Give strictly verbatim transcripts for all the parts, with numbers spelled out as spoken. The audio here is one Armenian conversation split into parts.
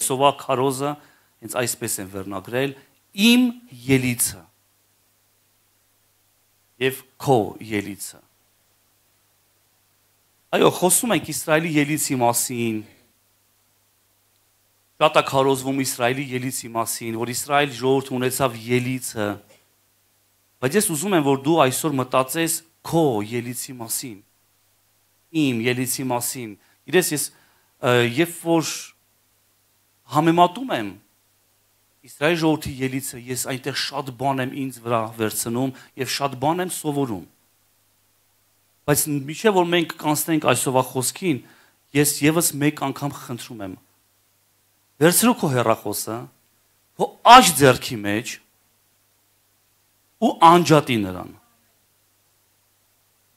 Այսօվա քարոզը հենց այսպես են վերնագրել իմ ելիցը եւ քո ելիցը։ Այո, խոսում ենք Իսրայելի ելիցի մասին։ Շատ է քարոզվում Իսրայելի ելիցի մասին, որ Իսրայել ժողովուրդը ունեցավ ելիցը։ Բայց ես ուզում եմ, որ դու այսօր մտածես քո ելիցի մասին, իմ ելիցի մասին։ Իրես ես երբ որ համեմատում եմ Իսրայելի ժողովրդի ելիցը, ես այնտեղ շատ բան եմ ինձ վրա վերցնում եւ շատ բան եմ սովորում։ Բայց միշտ որ մենք կանցնենք այսօվա խոսքին, ես եւս մեկ անգամ խնդրում եմ։ Վերցրու քո հեռախոսը, քո աջ ձեռքի մեջ ու անջատի նրան։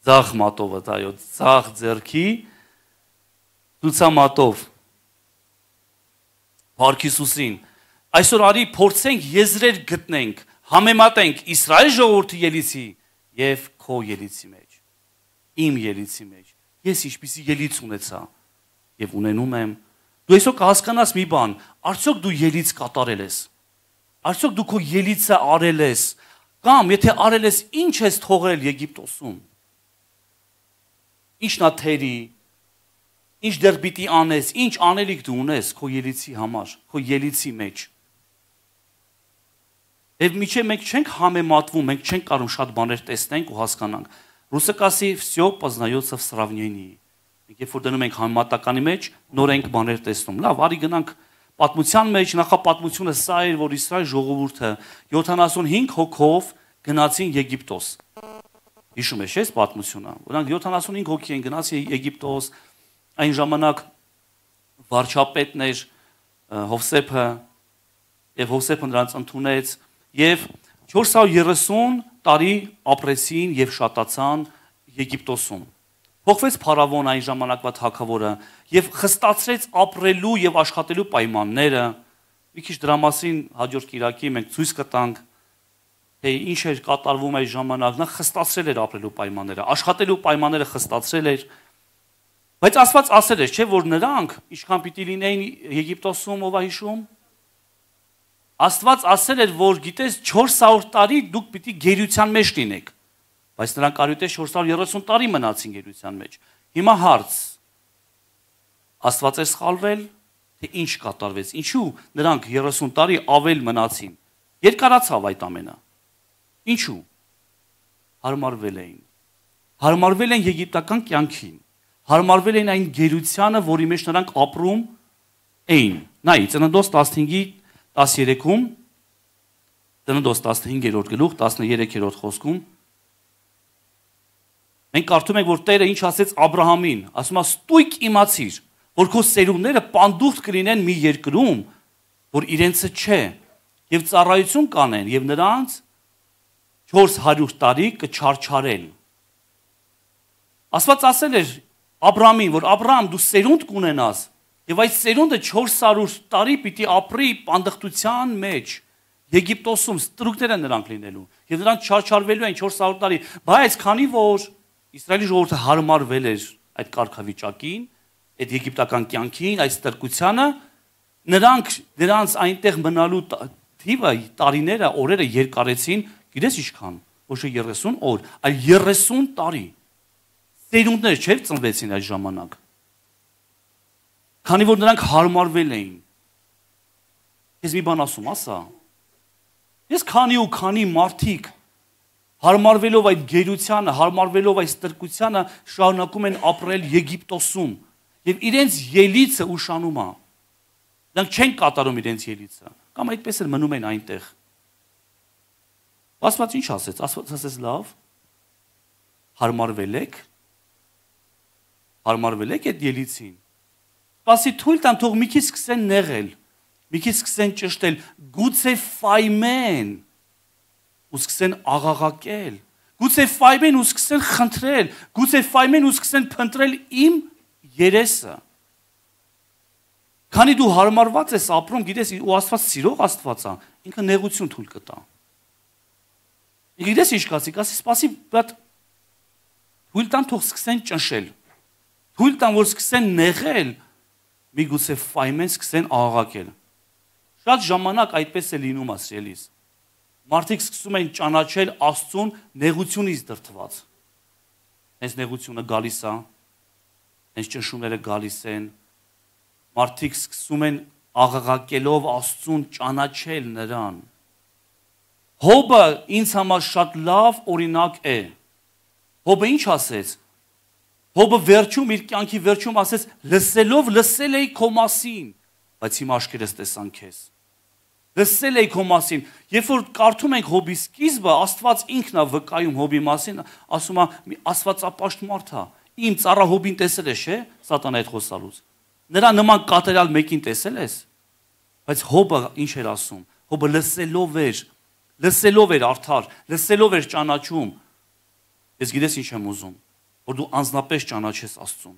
Ձախ մատովը, այո, ձախ ձեռքի ցուցամատով։ Փառք Հիսուսին։ Այսօր արի փորձենք եզրեր գտնենք, համեմատենք Իսրայել ժողովրդի ելիցի եւ քո ելիցի մեջ, իմ ելիցի մեջ։ Ես ինչպիսի ելից ունեցա եւ ունենում եմ։ Դու այսօր կհասկանաս մի բան, արդյոք դու ելից կատարել ես։ Արդյոք դու քո ելիցը արել ես, կամ եթե արել ես, ինչ ես թողել Եգիպտոսում։ Ինչն է թերի, ինչ դեռ պիտի անես, ինչ անելիք դու ունես քո ելիցի համար, քո ելիցի մեջ։ Եվ միջև մենք չենք համեմատվում, մենք չենք կարող շատ բաներ տեսնենք ու հասկանանք։ Ռուսը կասի «Всё познается в сравнении»։ Մենք երբ որ դնում ենք համեմատականի մեջ, նոր ենք բաներ տեսնում։ Լավ, արի գնանք պատմության մեջ, նախապատմությունը սա էր, որ Իսրայել ժողովուրդը յոթանասունհինգ հոգով գնացին Եգիպտոս։ Հիշում ես, չէ՞, պատմությունը։ Նրանք յոթանասունհինգ հոգի են գնացին Եգիպտոս, այն ժամանակ վարչապետն էր Հովսեփը, եւ Հովսեփը նրանց ընդունեց, եւ չորս հարյուր երեսուն տարի ապրեցին եւ շատացան Եգիպտոսում։ Փոխվեց Փարավոն այն ժամանակվա թագավորը եւ խստացրեց ապրելու եւ աշխատելու պայմանները։ Մի քիչ դրա մասին հաջորդ կիրակի մենք ցույց կտանք, թե ինչ էր կատարվում այս ժամանակ։ Նա խստացրել էր ապրելու պայմանները, աշխատելու պայմանները խստացրել էր։ Բայց Աստված ասել էր, չէ՞ որ նրանք ինչքան պիտի լինեին Եգիպտոսում, ով է հիշում։ Աստված ասել էր, որ գիտես չորս հարյուր տարի դուք պիտի գերության մեջ լինեք։ Բայց նրանք արյութե չորս հարյուր երեսուն տարի մնացին գերության մեջ։ Հիմա հարց. Աստված է սխալվել, թե ինչ կատարվեց։ Ինչու նրանք երեսուն տարի ավել մնացին։ Երկարացավ այդ ամենը։ Ինչու։ Հարմարվել էին։ Հարմարվել են եգիպտական կյանքին։ Հարմարվել էին այն գերությանը, որի մեջ նրանք ապրում էին։ Նայ, Ծննդոց տասնհինգի տասներեքում, Ծննդոց տասնհինգերորդ գլուխ տասներեքերորդ խոսքում մենք կարդում ենք, որ Տերը ինչ ասեց Աբրահամին, ասում է ստույգ իմացիր, որ քո սերունդները պանդուխտ կլինեն մի երկրում, որ իրենցը չէ, եւ ծառայություն կանեն, եւ նրանց չորս հարյուր տարի կչարչարեն։ Աստված ասել էր Աբրահամին, որ Աբրահամ դու սերունդ կունենաս, եւ այդ սերունդը չորս հարյուր տարի պիտի ապրի պանդխտության մեջ, Եգիպտոսում ստրուկներ են նրանք լինելու, եւ նրանք չարչարվելու են չորս հարյուր տարի, բայց քանի որ Իսրայելի ժողովուրդը հարմարվել էր այդ կարգավիճակին, այդ եգիպտական կյանքին, այդ ստրկությանը, նրանք նրանց այնտեղ մնալու թիվը, տարիները, օրերը երկարեցին, գիտես ինչքան, ոչ թե երեսուն օր, այլ երեսուն տարի։ Սերունդներ չէ՞ ծնվեցին այդ ժամանակ։ Քանի որ նրանք հարմարվել էին։ Ես մի բան ասում, ասա։ Ես քանի ու քանի մարդիկ հարմարվելով այդ գերությանը, հարմարվելով այդ ստրկությանը շարունակում են ապրել Եգիպտոսում եւ իրենց ելիցը ուշանում է։ Նրանք չեն կատարում իրենց ելիցը, կամ այդպես էլ մնում են այնտեղ։ Աստված ինչ ասեց։ Աստված ասեց լավ։ Հարմարվել եք։ Հարմարվել եք այդ ելիցին։ Պասի թույլ տան թող մի քիչ սկսեն նեղել, մի քիչ սկսեն ճշտել, գուցե ֆայմեն ու սկսեն աղաղակել, գուցե ֆայմեն ու սկսեն խնդրել, գուցե ֆայմեն ու սկսեն փնտրել իմ երեսը։ Քանի դու հարմարված ես ապրում, գիտես, ու Աստված սիրող Աստված է, ինքը նեղություն թույլ կտա։ Գիտես ինչ կասի, կասի սպասի, բայց թույլ տան թող սկսեն ճնշել, թույլ տան որ սկսեն նեղել, միգուցե ֆայմեն սկսեն աղաղակել։ Շատ ժամանակ այդպես է լինում ասելիս։ Մարդիկ սկսում են ճանաչել Աստծուն նեղությունից դրդված։ Հենց նեղությունը գալիս է, հենց ճնշումները գալիս են։ Մարդիկ սկսում են աղաղակելով Աստծուն ճանաչել նրան։ Հոբը ինձ համար շատ լավ օրինակ է։ Հոբը ինչ ասեց։ Հոբը վերջում իր կյանքի վերջում ասեց. լսելով լսել էի քո մասին, բայց հիմա աշկերտս տեսան քեզ։ Լսել էի քո մասին։ Երբ որ կարդում ենք Հոբի սկիզբը, Աստված ինքն է վկայում Հոբի մասին, ասում է մի աստվածապաշտ մարդ է։ Իմ ծառա Հոբին տեսել ես, չէ՞, Սատանայի հետ խոսալուց։ Նրա նման կատարյալ մեկին տեսել ես։ Բայց Հոբը ինչ էր ասում։ Հոբը լսելով էր, լսելով էր արդար, լսելով էր ճանաչում։ Ես գիտես ինչ եմ ուզում, որ դու անձնապես ճանաչես Աստծուն։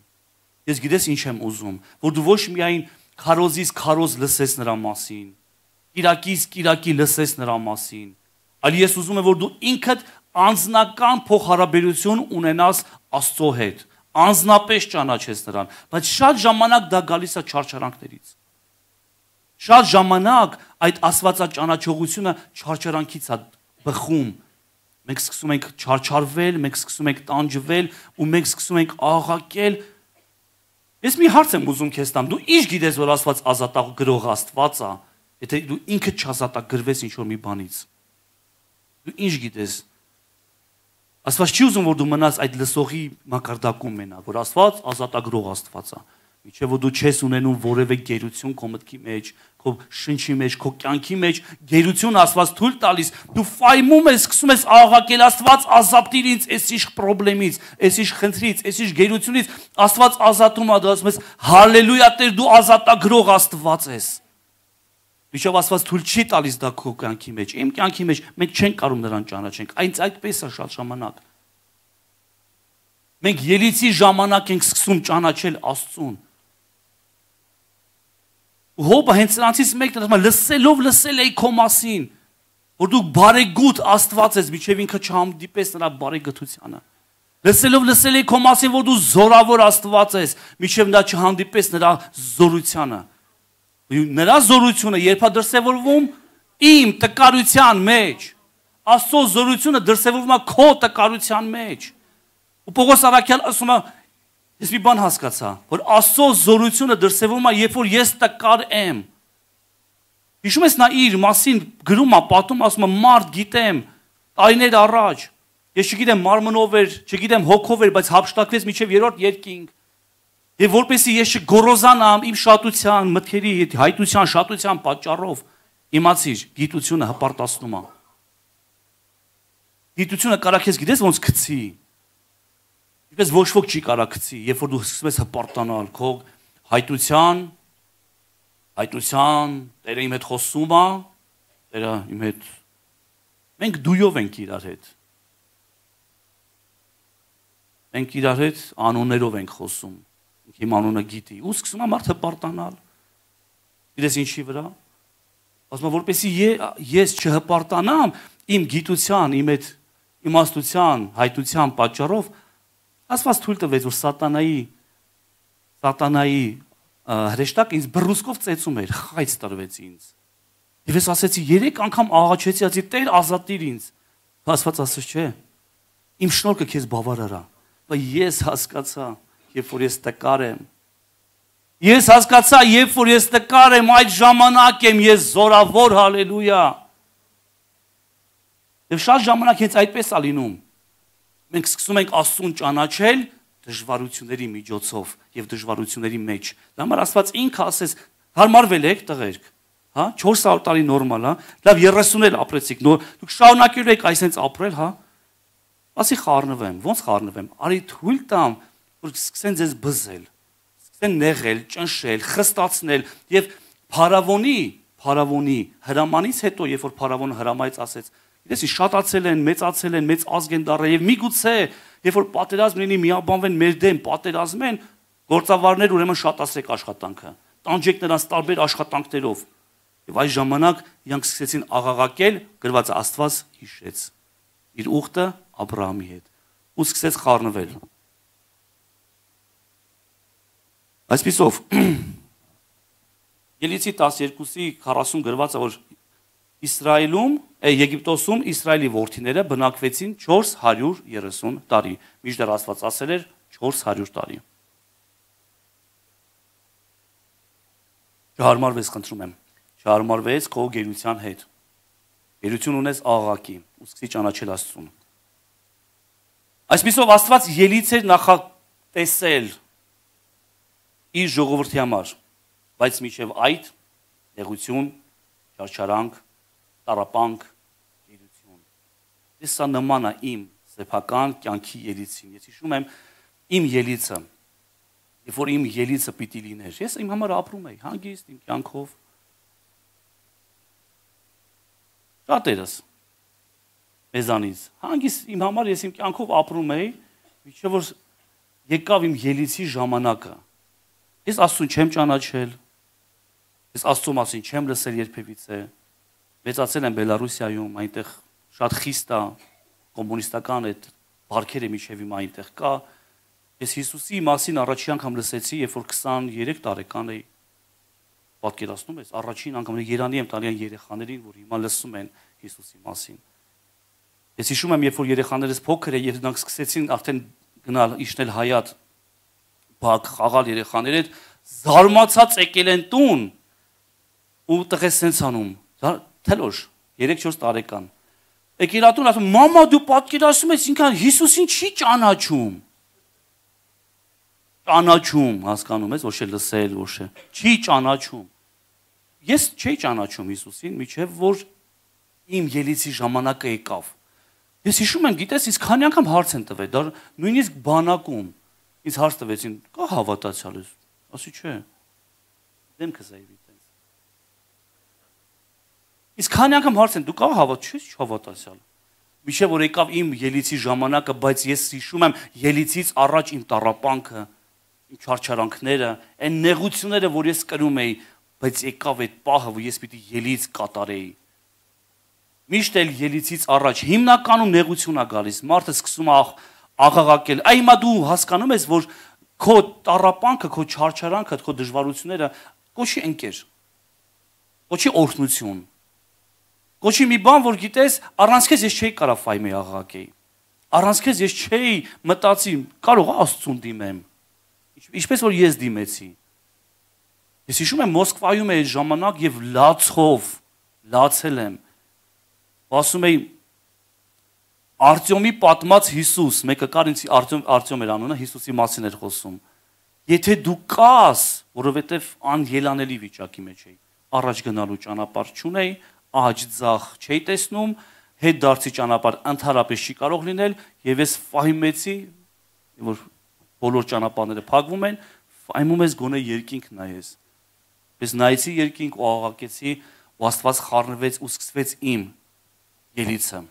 Ես գիտես ինչ եմ ուզում, որ դու ոչ միայն քարոզից քարոզ լսես նրա մասին, Կիրակից Կիրակի լսես նրա մասին, այլ ես ուզում եմ, որ դու ինքդ անձնական փոխհարաբերություն ունենաս Աստծո հետ, անձնապես ճանաչես նրան, բայց շատ ժամանակ դա գալիս է չարչարանքներից։ Շատ ժամանակ այդ աստվածաճանաչողությունը չարչարանքից է բխում։ Մենք սկսում ենք չարչարվել, մենք սկսում ենք տանջվել ու մենք սկսում ենք աղաղակել։ Ես մի հարց եմ ուզում քեզ տամ, դու ի՞նչ գիտես, որ Աստված ազատագրող Աստված է, եթե դու ինքդ չազատագրվես ինչ-որ մի բանից։ Դու ի՞նչ գիտես։ Աստված չի ուզում, որ դու մնաս այդ լսողի մակարդակում մենակ, որ Աստված ազատագրող Աստված է։ Միջև որ դու չես ունենում որևէ գերություն քո մտքի մեջ, քո շնչի մեջ, քո կյանքի մեջ, գերություն Աստված թույլ տալիս, դու ֆայմում ես, սկսում ես աղաղակել Աստված ազատիր ինձ այսիշ խնդրից, այսիշ խնդրից, այսիշ գերությունից, Աստված ազատում է, դու ասում ես հալելույա Տեր, դու ազատագրող Աստված ես։ Միջև Աստված թույլ չի տալիս դա քո կյանքի մեջ, իմ կյանքի մեջ մենք չենք կարող նրան ճանաչենք, այնց այդպես է շատ ժամանակ։ Մենք ելիցի ժամանակ ենք սկսում ճանաչել Աստծուն։ Հոբը հենց նրանցից մեկն ասում է լսելով լսել էի քո մասին, որ դու բարեգութ Աստված ես, միջև ինքը չհանդիպես նրա բարեգթությանը։ Լսելով լսել էի քո մասին, որ դու զորավոր Աստված ես, միջև նա չհանդիպես նրա զորությանը։ Նրա զորությունը երբ է դրսևորվում իմ տկարության մեջ, Աստծո զորությունը դրսևորվում է քո տկարության մեջ։ Ու Պողոս առաքյալ ասում է, ես մի բան հասկացա, որ Աստծո զորությունը դրսևորվում է, երբ որ ես տկար եմ։ Հիշում ես նա իր մասին գրում է, պատում ասում է, մարդ գիտեմ, տարիներ առաջ, ես չգիտեմ մարմնով էր, չգիտեմ հոգով էր, բայց հափշտակվեց մինչև երրորդ երկինք։ Եվ որպեսզի ես չգոռոզանամ իմ շատության, մտքերի, հայտության, շատության պատճառով, իմացիր, գիտությունը հպարտացնում է։ Գիտությունը կարա քեզ գիտես ոնց գցի։ Ինչպես ոչ ոք չի կարա գցի, երբ որ դու սկսում ես հպարտանալ քո հայտության, հայտության, Տերը իմ հետ խոսում է, Տերը իմ հետ։ Մենք դույով ենք իրար հետ։ Մենք իրար հետ անուններով ենք խոսում։ Իմ անունը գիտի, ու սկսում է մարդ հպարտանալ։ Գիտես ինչի վրա։ Ասում է, որպեսզի ես չհպարտանամ իմ գիտության, իմ այդ իմաստության, հայտության պատճառով, Աստված թույլ տվեց, որ սատանայի սատանայի հրեշտակ ինձ բռունցքով ծեծում էր, խայծ տրվեց ինձ։ Եվ ես ասեցի, երեք անգամ աղաչեցի, ասեցի, Տեր ազատիր ինձ։ Աստված ասաց, չէ։ Իմ շնորհքը քեզ բավարար է։ Բայց ես հասկացա, երբ որ ես տկար եմ։ Ես հասկացա, երբ որ ես տկար եմ, այդ ժամանակ եմ ես զորավոր, հալելույա։ Եվ շատ ժամանակ հենց այդպես է լինում։ Մենք սկսում ենք Աստծուն ճանաչել դժվարությունների միջոցով եւ դժվարությունների մեջ։ Դա համար Աստված ինքը ասես, հարմարվել եք տղերք, հա, չորս հարյուր տարի նորմալ, հա, լավ երեսուն էլ ապրեցիք, նոր դուք շարունակելու եք այսպես ապրել, հա։ Ասի խառնվեմ, ո՞նց խառնվեմ։ Արի թույլ տամ, որ սկսեն ձեզ բզել, սկսեն նեղել, ճնշել, խստացնել եւ փարավոնի, փարավոնի հրամանից հետո, երբ որ փարավոնը հրամայեց ասեց, գիտես, շատացել են, մեծացել են, մեծ ազգ են դառել եւ միգուցե, երբ որ պատերազմ լինի, միաբանվեն մեր դեմ, պատերազմեն, գործավարներ ուրեմն շատացրեք աշխատանքը, տանջեք նրանց տարբեր աշխատանքներով։ Եվ այս ժամանակ իրանք սկսեցին աղաղակել, գրված է Աստված հիշեց իր ուխտը Աբրահամի հետ ու սկսեց խառնվել։ Այսպիսով Ելիցի տասներկուսի քառասուն գրված է, որ Իսրայելում, Եգիպտոսում Իսրայելի որդիները բնակվեցին չորս հարյուր երեսուն տարի։ Մինչդեռ Աստված ասել էր չորս հարյուր տարի։ Չհարմարվես, խնդրում եմ։ Չհարմարվես քո գերության հետ։ Գերություն ունես աղաղակի, ու սկսի ճանաչել Աստծուն։ Այսպիսով Աստված ելից էր նախատեսել իր ժողովրդի համար, բայց միջև այդ նեղություն, չարչարանք, տարապանք, գերություն։ Ես սա նման է իմ սեփական կյանքի ելիցին։ Ես հիշում եմ իմ ելիցը, երբ որ իմ ելիցը պիտի լիներ։ Ես իմ համար ապրում էի հանգիստ իմ կյանքով։ Շատերս մեզանից հանգիստ իմ համար ես իմ կյանքով ապրում էի, մինչև որ եկավ իմ ելիցի ժամանակը։ Ես Աստծուն չեմ ճանաչել, ես Աստծու մասին չեմ լսել երբևիցե։ Մեծացել եմ Բելարուսիայում, այնտեղ շատ խիստ է կոմունիստական այդ բարքերը միջև իմ այնտեղ կա։ Ես Հիսուսի մասին առաջին անգամ լսեցի, երբ որ քսաներեք տարեկան էի։ Պատկերացնում ես, առաջին անգամ Երանի եմ տալի այն երեխաներին, որ հիմա լսում են Հիսուսի մասին։ Ես հիշում եմ, երբ որ երեխաներս փոքր էին, եւ նրանք սկսեցին արդեն գնալ իջնել հայատ, բակ խաղալ երեխաները, զարմացած եկել են տուն ու տղես սենց անում։ Թելոշ, երեք-չորս տարեկան։ Եկել ատուն ասում, մամա դու պատկերացնում ես, ինքան Հիսուսին չի ճանաչում։ Ճանաչում, հասկանում ես, ոչ է լսել, ոչ է, չի ճանաչում։ Ես չէի ճանաչում Հիսուսին, միջև որ իմ ելիցի ժամանակը եկավ։ Ես հիշում եմ, գիտես, իսկ քանի անգամ հարց են տվել, դա նույնիսկ բանակում ինձ հարց տվեցին, կա հավատացյալ ես։ Ասի չէ։ Դեմքս այ վիտենց։ Իսկ քանի անգամ հարց են, դու կա հավատ, չես հավատացյալ։ Միջև որ եկավ իմ ելիցի ժամանակը, բայց ես հիշում եմ ելիցից առաջ իմ տառապանքը, իմ չարչարանքները, այն նեղությունները, որ ես կրում էի, բայց եկավ այդ պահը, որ ես պիտի ելից կատարեի։ Միշտ էլ ելիցից առաջ հիմնականում նեղություն է գալիս, մարդը սկսում է աղաղակել։ Այ հիմա դու հասկանում ես, որ քո տառապանքը, քո չարչարանքը, քո դժվարությունները կոչի ընկեր, կոչի օրհնություն, կոչի մի բան, որ գիտես, առանց քեզ ես չէի կարող ֆայմի աղաղակեի, առանց քեզ ես չէի մտածի, կարող է Աստծուն դիմեմ, ինչպես որ ես դիմեցի։ Ես հիշում եմ Մոսկվայում էի ժամանակ եւ լացով, լացել եմ, ասում էի Արտյոմի պատմած Հիսուս, մեկը կար ինձ Արտյոմ Արտյոմ էր անունը, Հիսուսի մասին էր խոսում։ Եթե դու կաս, որովհետև անելանելի վիճակի մեջ էի, առաջ գնալու ճանապարհ չունեի, աջ ձախ չէի տեսնում, հետ դարձի ճանապարհ ընդհանրապես չի կարող լինել, եւ ես ֆայմեցի, որ բոլոր ճանապարհները փակվում են, ֆայմում ես գոնե երկինք նայես։ Ես նայեցի երկինք ու աղաղակեցի, ու Աստված խառնվեց ու սկսվեց իմ ելիցը։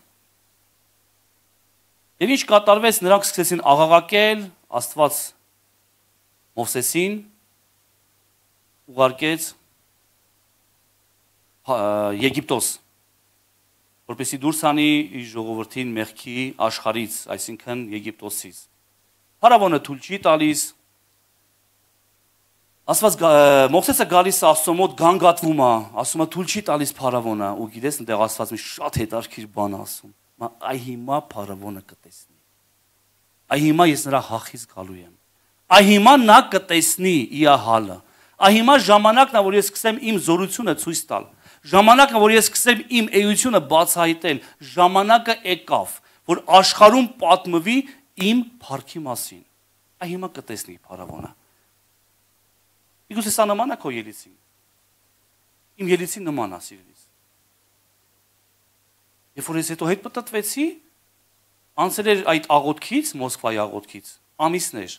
Եվ ինչ կատարվեց, նրանք սկսեցին աղաղակել, Աստված Մովսեսին ուղարկեց Եգիպտոս, որպեսզի դուրս անի իր ժողովրդին մեղքի աշխարհից, այսինքն Եգիպտոսից։ Փարավոնը թույլ չի տալիս։ Աստված Մովսեսը գալիս է Աստծո մոտ գանգատվում է, ասում է թույլ չի տալիս փարավոնը, ու գիտես այնտեղ Աստված մի շատ հետաքրքիր բան ասում։ Այ հիմա փարավոնը կտեսնի։ Այ հիմա ես նրա հախից գալու եմ։ Այ հիմա նա կտեսնի իր հալը։ Այ հիմա ժամանակն է, որ ես սկսեմ իմ զորությունը ցույց տալ։ Ժամանակն է, որ ես սկսեմ իմ էությունը բացահայտել։ Ժամանակը եկավ, որ աշխարհում պատմվի իմ փառքի մասին։ Այ հիմա կտեսնի փարավոնը։ Իգուս սա նման է քո ելիցին։ Իմ ելիցին նման է, սիրելիս։ Երբ որ ես հետո հետ պատտվեցի, անցել էր այդ աղոթքից, Մոսկվայի աղոթքից, ամիսներ։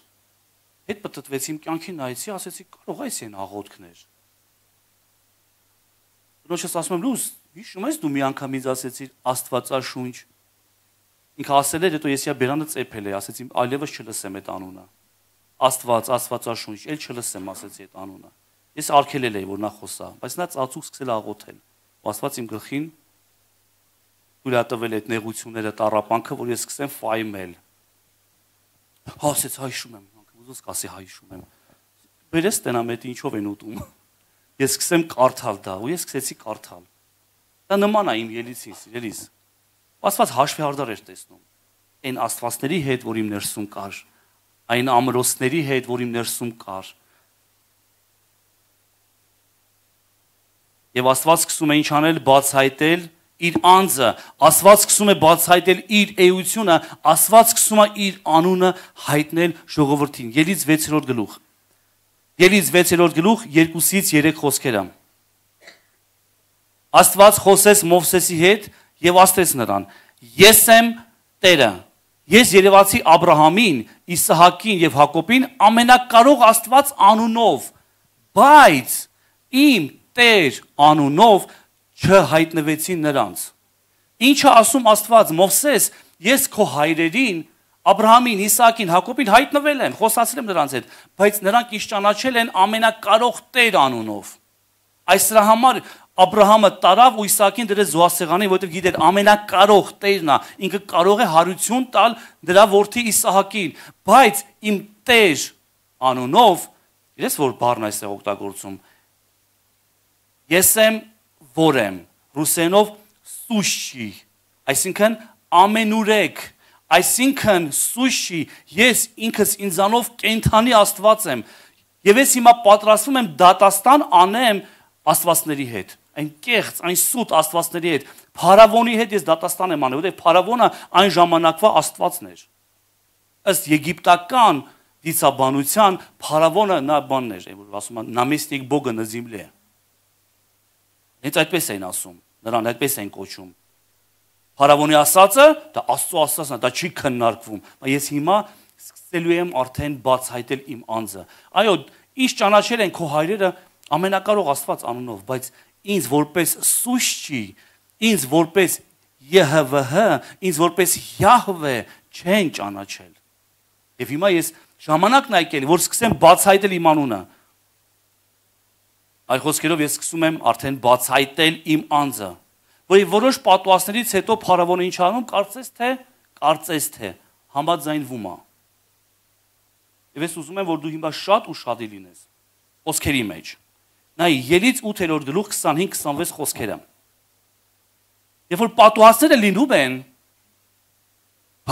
Հետ պատտվեցի իմ կյանքին նայեցի, ասեցի, կարող այս են աղոթքներ։ Դրոշս ասում եմ, լույս, հիշում ես դու մի անգամ ինձ ասեցիր Աստվածաշունչ։ Ինքը ասել էր, հետո ես իա բերանը ծեփել էի, ասեցի, այլևս չլսեմ այդ անունը։ Աստված, Աստվածաշունչ, ել չլսեմ, ասեցի այդ անունը։ Ես արգելել էի, որ նա խոսա, բայց նա ծածուկ սկսել աղոթել։ Ու Աստված իմ գլխին թույլ է տվել այդ նեղությունները, տառապանքը, որ ես սկսեմ ֆայմել։ Հա, ասեց հայշում եմ, ուզես կասի հայշում եմ։ Բերես տենամ այդ ինչով են ուտում։ ես սկսեմ կարդալ դա, ու ես սկսեցի կարդալ։ Դա նման է իմ ելիցին, սիրելիս։ Աստված հաշվեհարդար էր տեսնում։ Այն աստվածների հետ, որ իմ ներսում կար, այն ամրոցների հետ, որ իմ ներսում կար։ Եվ Աստված սկսում է ինչ անել, բացահայտել իր անձը, Աստված սկսում է բացահայտել իր էությունը, Աստված սկսում է իր անունը հայտնել ժողովրդին։ Ելից վեցերորդ գլուխ։ Ելից վեցերորդ գլուխ երկուսից երեք խոսքերը։ Աստված խոսեց Մովսեսի հետ եւ ասեց նրան. Ես եմ Տերը։ Ես երևացի Աբրահամին, Իսահակին եւ Հակոբին ամենակարող Աստված անունով, բայց իմ Տեր անունով չհայտնվեցին նրանց։ Ինչը ասում Աստված, Մովսես, ես քո հայրերին, Աբրահամին, Իսահակին, Հակոբին հայտնվել եմ, խոսացել եմ նրանց հետ, բայց նրանք ինձ ճանաչել են ամենակարող Տեր անունով։ Այս դրա համար Աբրահամը տարավ ու Իսահակին դրեց զոհասեղանին, որովհետև գիտեր ամենակարող Տերն է, ինքը կարող է հարություն տալ դրա որդի Իսահակին, բայց իմ Տեր անունով, ես որ բառն այստեղ օգտագործում, ես եմ որ եմ, ռուսերենով սուշի, այսինքն ամենուրեք, այսինքն սուշի, ես ինքս ինձանով կենթանի Աստված եմ, եւ ես հիմա պատրաստվում եմ դատաստան անեմ աստվածների հետ, այն կեղծ, այն սուտ աստվածների հետ, Փարավոնի հետ ես դատաստան եմ անել, որովհետև Փարավոնը այն ժամանակվա աստվածն էր։ Ըստ եգիպտական դիցաբանության Փարավոնը նա բանն էր, որ ասում են նամեստիկ բոգը на земле։ Հենց այդպես էին ասում, նրան այդպես էին կոչում։ Փարավոնի ասածը դա Աստծո ասածն է, դա չի քննարկվում։ Բայց ես հիմա սկսելու եմ արդեն բացահայտել իմ անձը։ Այո, ինչ ճանաչել են քո հայրերը ամենակարող Աստված անունով, բայց ինձ որպես սուշչի, ինձ որպես ԵՀՎՀ, ինձ որպես Յահվե չեն ճանաչել։ Եվ հիմա ես ժամանակն եկել, որ սկսեմ բացահայտել իմ անունը։ Այլ խոսքերով ես սկսում եմ արդեն բացահայտել իմ անձը։ Որի որոշ պատուհասներից հետո Փարավոնը ինչ անում, կարծես թե, կարծես թե համաձայնվում է։ Եվ ես ուզում եմ, որ դու հիմա շատ ուշադիր լինես խոսքերի մեջ։ Նայ Ելից ութերորդ գլուխ քսանհինգ քսանվեց խոսքերը։ Երբ որ պատուհասները լինում են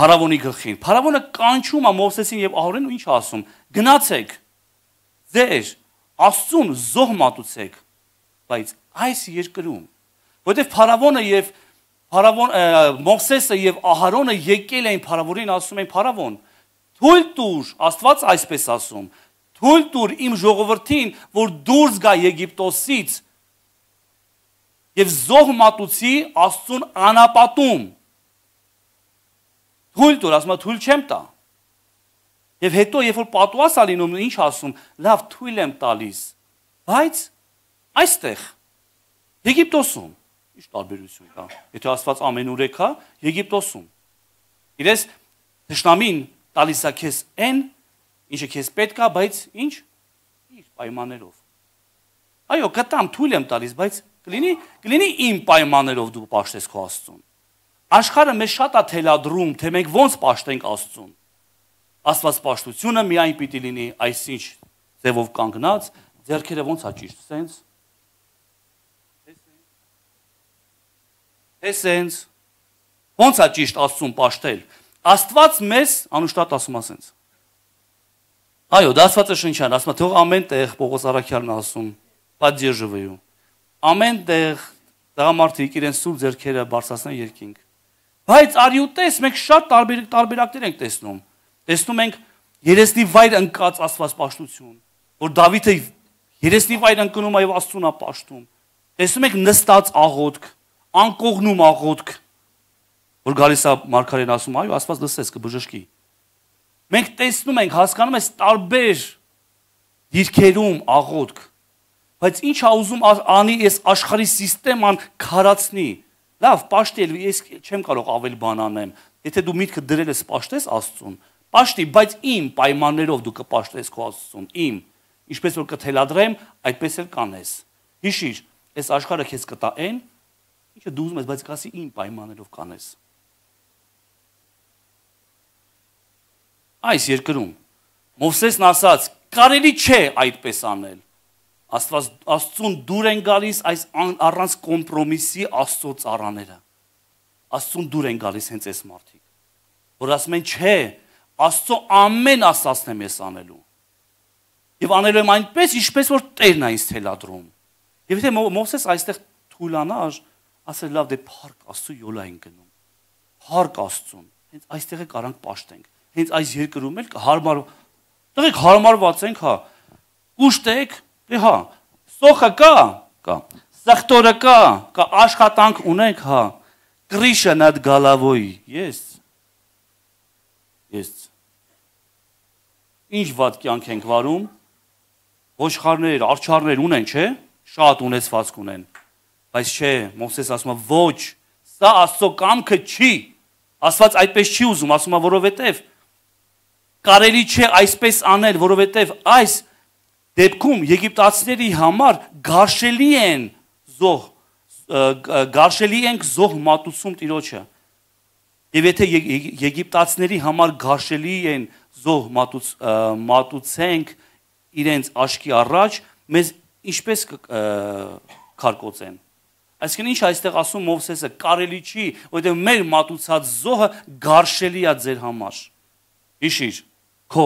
Փարավոնի գլխին, Փարավոնը կանչում է Մովսեսին եւ Ահորոնին ու ինչ ասում. գնացեք ձեր Աստծուն զոհ մատուցեք, բայց այս երկրում, որտեղ Փարավոնը եւ Փարավոն Մովսեսը եւ Ահարոնը եկել էին Փարավոնին, ասում են Փարավոն, թույլ տուր, Աստված այսպես ասում, թույլ տուր իմ ժողովրդին, որ դուրս գա Եգիպտոսից եւ զոհ մատուցի Աստծուն անապատում։ Թույլ տուր, ասում է, թույլ չեմ տա։ Եվ հետո, երբ որ պատուհաս է լինում, ինչ ասում, լավ, թույլ եմ տալիս, բայց այստեղ Եգիպտոսում ինչ տարբերություն կա։ Եթե Աստված ամենուրեք է, Եգիպտոսում։ Իրես թշնամին տալիս է քեզ այն, ինչը քեզ պետք է, բայց ինչ իր պայմաններով։ Այո, կտամ, թույլ եմ տալիս, բայց կլինի, կլինի իմ պայմաններով դու պաշտես քո Աստծուն։ Աշխարհը մեզ շատ է թելադրում, թե մենք ոնց պաշտենք Աստծուն։ Աստված պաշտությունը միայն պիտի լինի այսինչ ձևով կանգնած, ձեռքերը ոնց է ճիշտ, սենց։ Էսենց ոնց է ճիշտ Աստծուն պաշտել։ Աստված մեզ անուշտատ ասում է սենց։ Այո, դա Աստվածը շնչան, ասում է, թող ամեն տեղ Պողոս Առաքյալն ասում, поддерживаю։ Ամեն տեղ տղամարդիկ իրենց սուրբ ձեռքերը բարձրացնեն երկինք։ Բայց արյուտես մենք շատ տարբեր տարբերակներ ենք տեսնում։ Տեսնում ենք երեսնի վայր ընկած Աստված պաշտություն, որ Դավիթը երեսնի վայր ընկնում է եւ Աստծուն է պաշտում։ Տեսնում ենք նստած աղոթք, անկողնում աղոթք, որ գալիս է մարգարեն ասում, այո, Աստված լսեց կբժշկի։ Մենք տեսնում ենք, հասկանում ենք տարբեր դիրքերում աղոթք, բայց ինչ է ուզում անի այս աշխարհի սիստեման քարացնի։ Լավ, պաշտել, ես չեմ կարող ավել բան անեմ։ Եթե դու միտքը դրել ես պաշտես Աստծուն, պաշտի, բայց իմ պայմաններով դու կպաշտես քո Աստծուն, իմ, ինչպես որ կթելադրեմ, այդպես էլ կանես։ Հիշիր, այս աշխարհը քեզ կտա այն, ինչը դու ուզում ես, բայց կասի իմ պայմաններով կանես։ Այս երկրում Մովսեսն ասաց, կարելի չէ այդպես անել։ Աստված Աստծուն դուր են գալիս այս առանց կոմպրոմիսի Աստծո ծառաները։ Աստծուն դուր են գալիս հենց այս մարդիկ, որ ասում են, չէ, Աստծո ամեն ասածն եմ ես անելու։ Եվ անելու եմ այնպես, ինչպես որ Տերն է ինձ թելադրում։ Եվ եթե Մովսես այստեղ թույլանար, ասել լավ, դե փառք Աստծո յոլա են գնում։ Փառք Աստծուն։ Հենց այստեղ է կարանք պաշտենք։ Հենց այս երկրում էլ հարմար, տղեկ հարմարված ենք, հա։ Ուշտեք, դե հա, սոխը կա, կա, սխտորը կա, կա աշխատանք ունենք, հա։ Կրիշը նад գալավոյի, ես, ես, ինչ վատ կյանք ենք վարում, ոչխարներ, արջարներ ունեն, չէ, շատ ունեցվածք ունեն, բայց չէ, Մովսես ասում է, ոչ, սա Աստծո կամքը չի, Աստված այդպես չի ուզում, ասում է, որովհետև կարելի չէ այսպես անել, որովհետև այս դեպքում եգիպտացիների համար գարշելի են զոհ, գարշելի ենք զոհ մատուցում Տիրոջը։ Եվ եթե եգիպտացիների համար գարշելի են զոհ մատուցենք իրենց աչքի առաջ, մեզ ինչպես կքարկոծեն։ Այսինքն ինչ այստեղ ասում Մովսեսը, կարելի չի, որովհետև մեր մատուցած զոհը գարշելի է ձեր համար։ Հիշիր, քո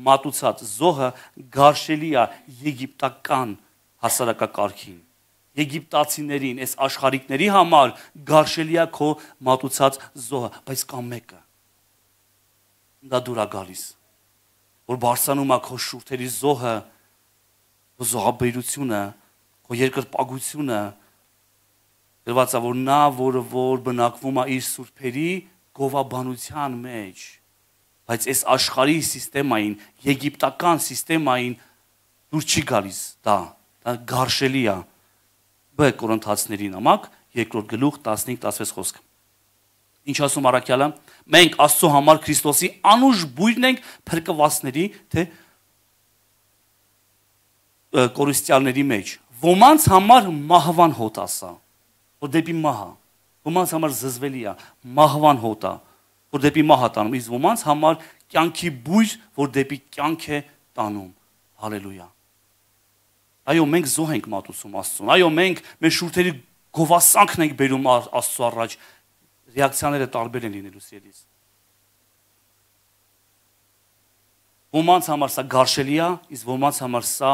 մատուցած զոհը գարշելի է եգիպտական հասարակակարգին, եգիպտացիներին, այս աշխարհիկների համար գարշելի է քո մատուցած զոհը, բայց կա մեկը, դա դուր է գալիս, որ բարձրանում է քո շուրթերի զոհը, քո զոհաբերությունը, քո երկրպագությունը, գրված է, որ նա, որը որ բնակվում է իր սուրբերի գովաբանության մեջ, բայց այս աշխարհի սիստեմային, եգիպտական սիստեմային դուր չի գալիս դա, դա գարշելի է։ Բ Կորինթացիների նամակ, երկրորդ գլուխ տասնհինգ տասնվեց խոսքը։ Ինչ ասում առաքյալը, մենք Աստծո համար Քրիստոսի անուշ բույրն ենք փրկվածների, թե կորիստյալների մեջ։ Ոմանց համար մահվան հոտ ասա, որ դեպի մահը, ոմանց համար զզվելի է, մահվան հոտ է, որ դեպի մահ է տանում, իսկ ոմանց համար կյանքի բույր, որ դեպի կյանք է տանում։ Հալելույա։ Այո, մենք զոհ ենք մատուցում Աստծուն։ Այո, մենք մեր շուրթերի գովասանքն ենք բերում Աստծո առաջ։ Ռեակցիաները տարբեր են լինելու սիրելիս։ Ոմանց համար սա գարշելի է, իսկ ոմանց համար սա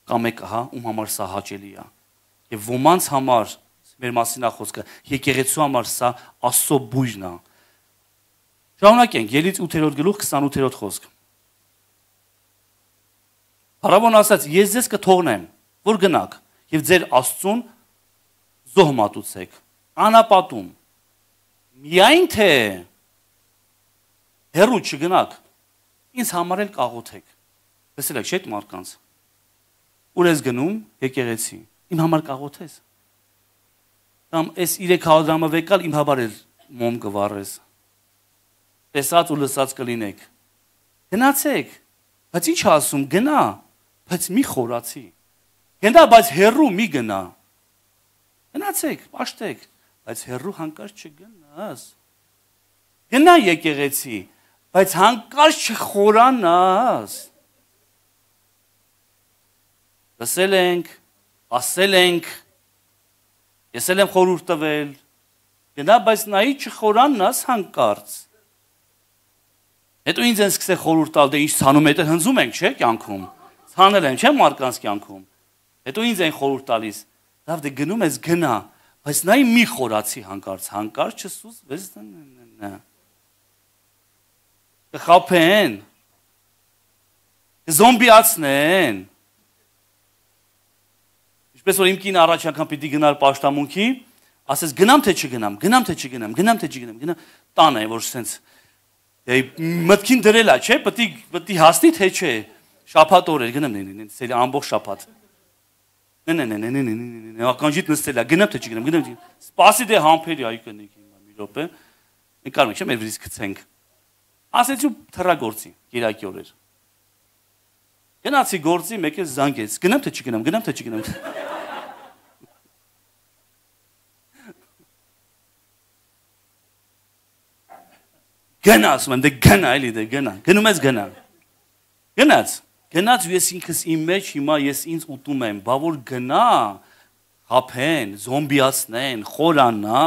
կամ եկա, հա, ում համար սա հաճելի է։ Եվ ոմանց համար մեր մասին է խոսքը, եկեղեցու համար սա Աստծո բույրն է։ Շարունակենք, Ելից ութերորդ գլուխ քսանութերորդ խոսք։ Փարավոն ասաց, ես ձեզ կթողնեմ, որ գնաք, եւ ձեր Աստծուն զոհ մատուցեք, անապատում։ Միայն թե հեռու չգնաք, ինձ համար էլ կաղոթեք։ Լսել եք, չէ՞ այդ մարդկանց։ Ուր ես գնում, եկեղեցի, իմ համար կաղոթես։ Կամ այս երեք հազար դրամը վեկալ իմ համար էլ մոմ կվառես։ Տեսած ու լսած կլինեք։ Գնացեք, բայց ինչ ասում, գնա, բայց մի խորացի։ Գնա, բայց հեռու մի գնա։ Գնացեք, պաշտեք, բայց հեռու հանկարծ չգնաս։ Գնա եկեղեցի, բայց հանկարծ չխորանաս։ Լսել ենք, ասել ենք, ես էլ եմ խորհուրդ տվել, գնա, բայց նայի չխորանաս հանկարծ։ Հետո ինձ են սկսել խորհուրդ տալ, դե ինչ ցանում եք, հնձում ենք, չէ, կյանքում։ Ցանել են, չէ, մարդկանց կյանքում։ Հետո ինձ են խորհուրդ տալիս, լավ, դե գնում ես գնա, բայց նայի մի խորացի հանկարծ, հանկարծ չսուս, վես նա։ Կխափեն։ Կզոմբիացնեն։ Ինչպես որ իմ կինը առաջ անգամ պիտի գնար պաշտամունքի, ասես գնամ թե չգնամ, գնամ թե չգնամ, գնամ թե չգնամ, գնամ, տանը է որ սենց մտքին դրել է, չէ, պետք է պետք է հասնի թե չէ, շաբաթ օր էր գնամ, նենց ամբողջ շաբաթ։ Նե նե նե նե նե նե ականջիդ նստել է, գնամ թե չգնամ, գնամ թե սպասի դե համբերի այ կնեք հիմա մի րոպե։ Մենք կարող ենք չէ մեր վրից գցենք։ Ասեցի թռագործի, Կիրակի օրեր։ Գնացի գործի, մեկ էլ զանգեց, գնամ թե չգնամ, գնամ թե չգնամ։ Գնա, ասում եմ, դե գնա, էլի դե գնա, գնում ես գնա։ Գնաց, Գնաց ու ես ինքս իմ մեջ հիմա ես ինձ ուտում եմ, բա որ գնա, հափեն, զոմբիացնեն, խորանա։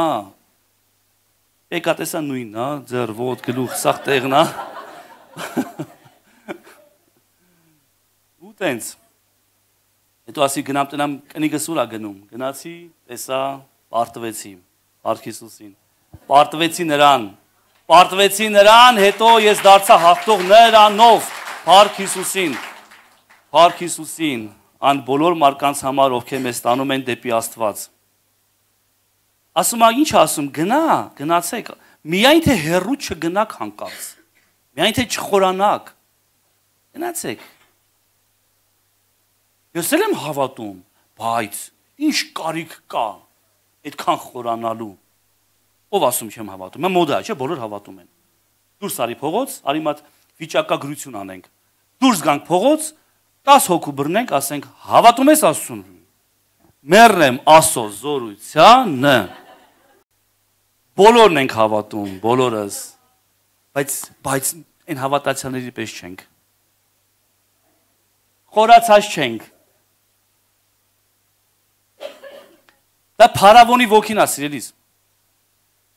Եկա տեսա նույնն, հա, ձեր ոտ գլուխ սաղ տեղն, հա։ Ու տենց։ Հետո ասի գնամ տնամ կնիկս ուր ա գնում։ Գնացի, տեսա, պարտվեցի, Փառք Հիսուսին։ Պարտվեցի նրան։ Պարտվեցի նրան, հետո ես դարձա հաղթող նրանով, Փառք Հիսուսին։ Փառք Հիսուսին, ան բոլոր մարդկանց համար, ովքեր մեզ տանում են դեպի Աստված։ Ասում ա ինչ ասում, գնա, գնացեք, միայն թե հեռու չգնաք հանկարծ, միայն թե չխորանաք, գնացեք։ Ես էլ եմ հավատում, բայց ինչ կարիք կա այդքան խորանալու։ Ով ասում չեմ հավատում, mən մոդա, չէ, բոլոր հավատում են։ Դուրս արի փողոց, արի մատ վիճակագրություն անենք։ Դուրս գանք փողոց, տասը հոգու բռնենք, ասենք, հավատում ես Աստծուն։ Մեռնեմ Աստծո զորությանը։ Բոլորն ենք հավատում, բոլորս, բայց բայց այն հավատացյալների պես չենք։ Խորացած չենք։ Դա փարավոնի ոգին է, սիրելիս։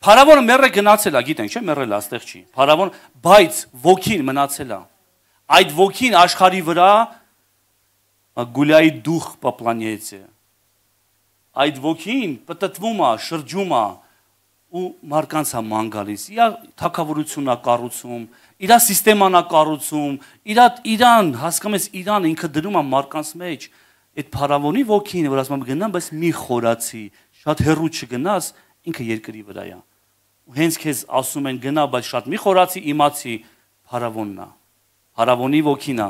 Փարավոնը մեռը գնացել է, գիտենք, չէ՞, մեռել է, այստեղ չի։ Փարավոն, բայց ոգին մնացել է։ Այդ ոգին աշխարհի վրա գուլայի դուխ по планете։ Այդ ոգին պատտվում է, շրջում է ու մարդկանց է ման գալիս, իր թակավորությունն է կառուցում, իր սիստեման է կառուցում, իր իրան, հասկանում ես, իրան ինքը դնում է մարդկանց մեջ, այդ փարավոնի ոգին, որ ասում եմ գնամ, բայց մի խորացի, շատ հեռու չգնաս, ինքը երկրի վրա է։ Ու հենց քեզ ասում են գնա, բայց շատ մի խորացի, իմացի, փարավոնն է, փարավոնի ոգին է։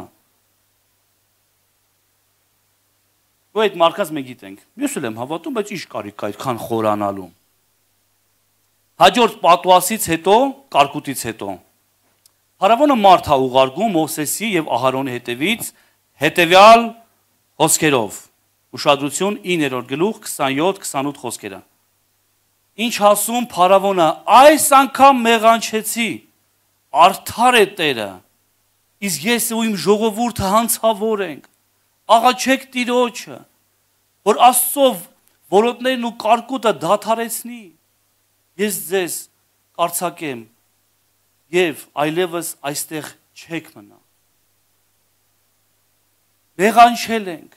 Ու այդ մարդկանց մենք գիտենք, ես էլ եմ հավատում, բայց ինչ կարիք կա այդքան խորանալու։ Հաջորդ պատուասից հետո, կարկուտից հետո, Փարավոնը մարդ է ուղարկում Մովսեսի եւ Ահարոնի հետևից հետևյալ խոսքերով։ Ուշադրություն իններորդ գլուխ քսանյոթ քսանութ խոսքերը։ Ինչ ասում Փարավոնը, այս անգամ մեղանչեցի, արդար է Տերը, իսկ ես ու իմ ժողովուրդը հանցավոր ենք, աղաչեք Տիրոջը, որ Աստծով որոտներն ու կարկուտը դադարեցնի, ես ձեզ կարծակեմ եւ այլևս այստեղ չեք մնա։ Մեղանչել ենք,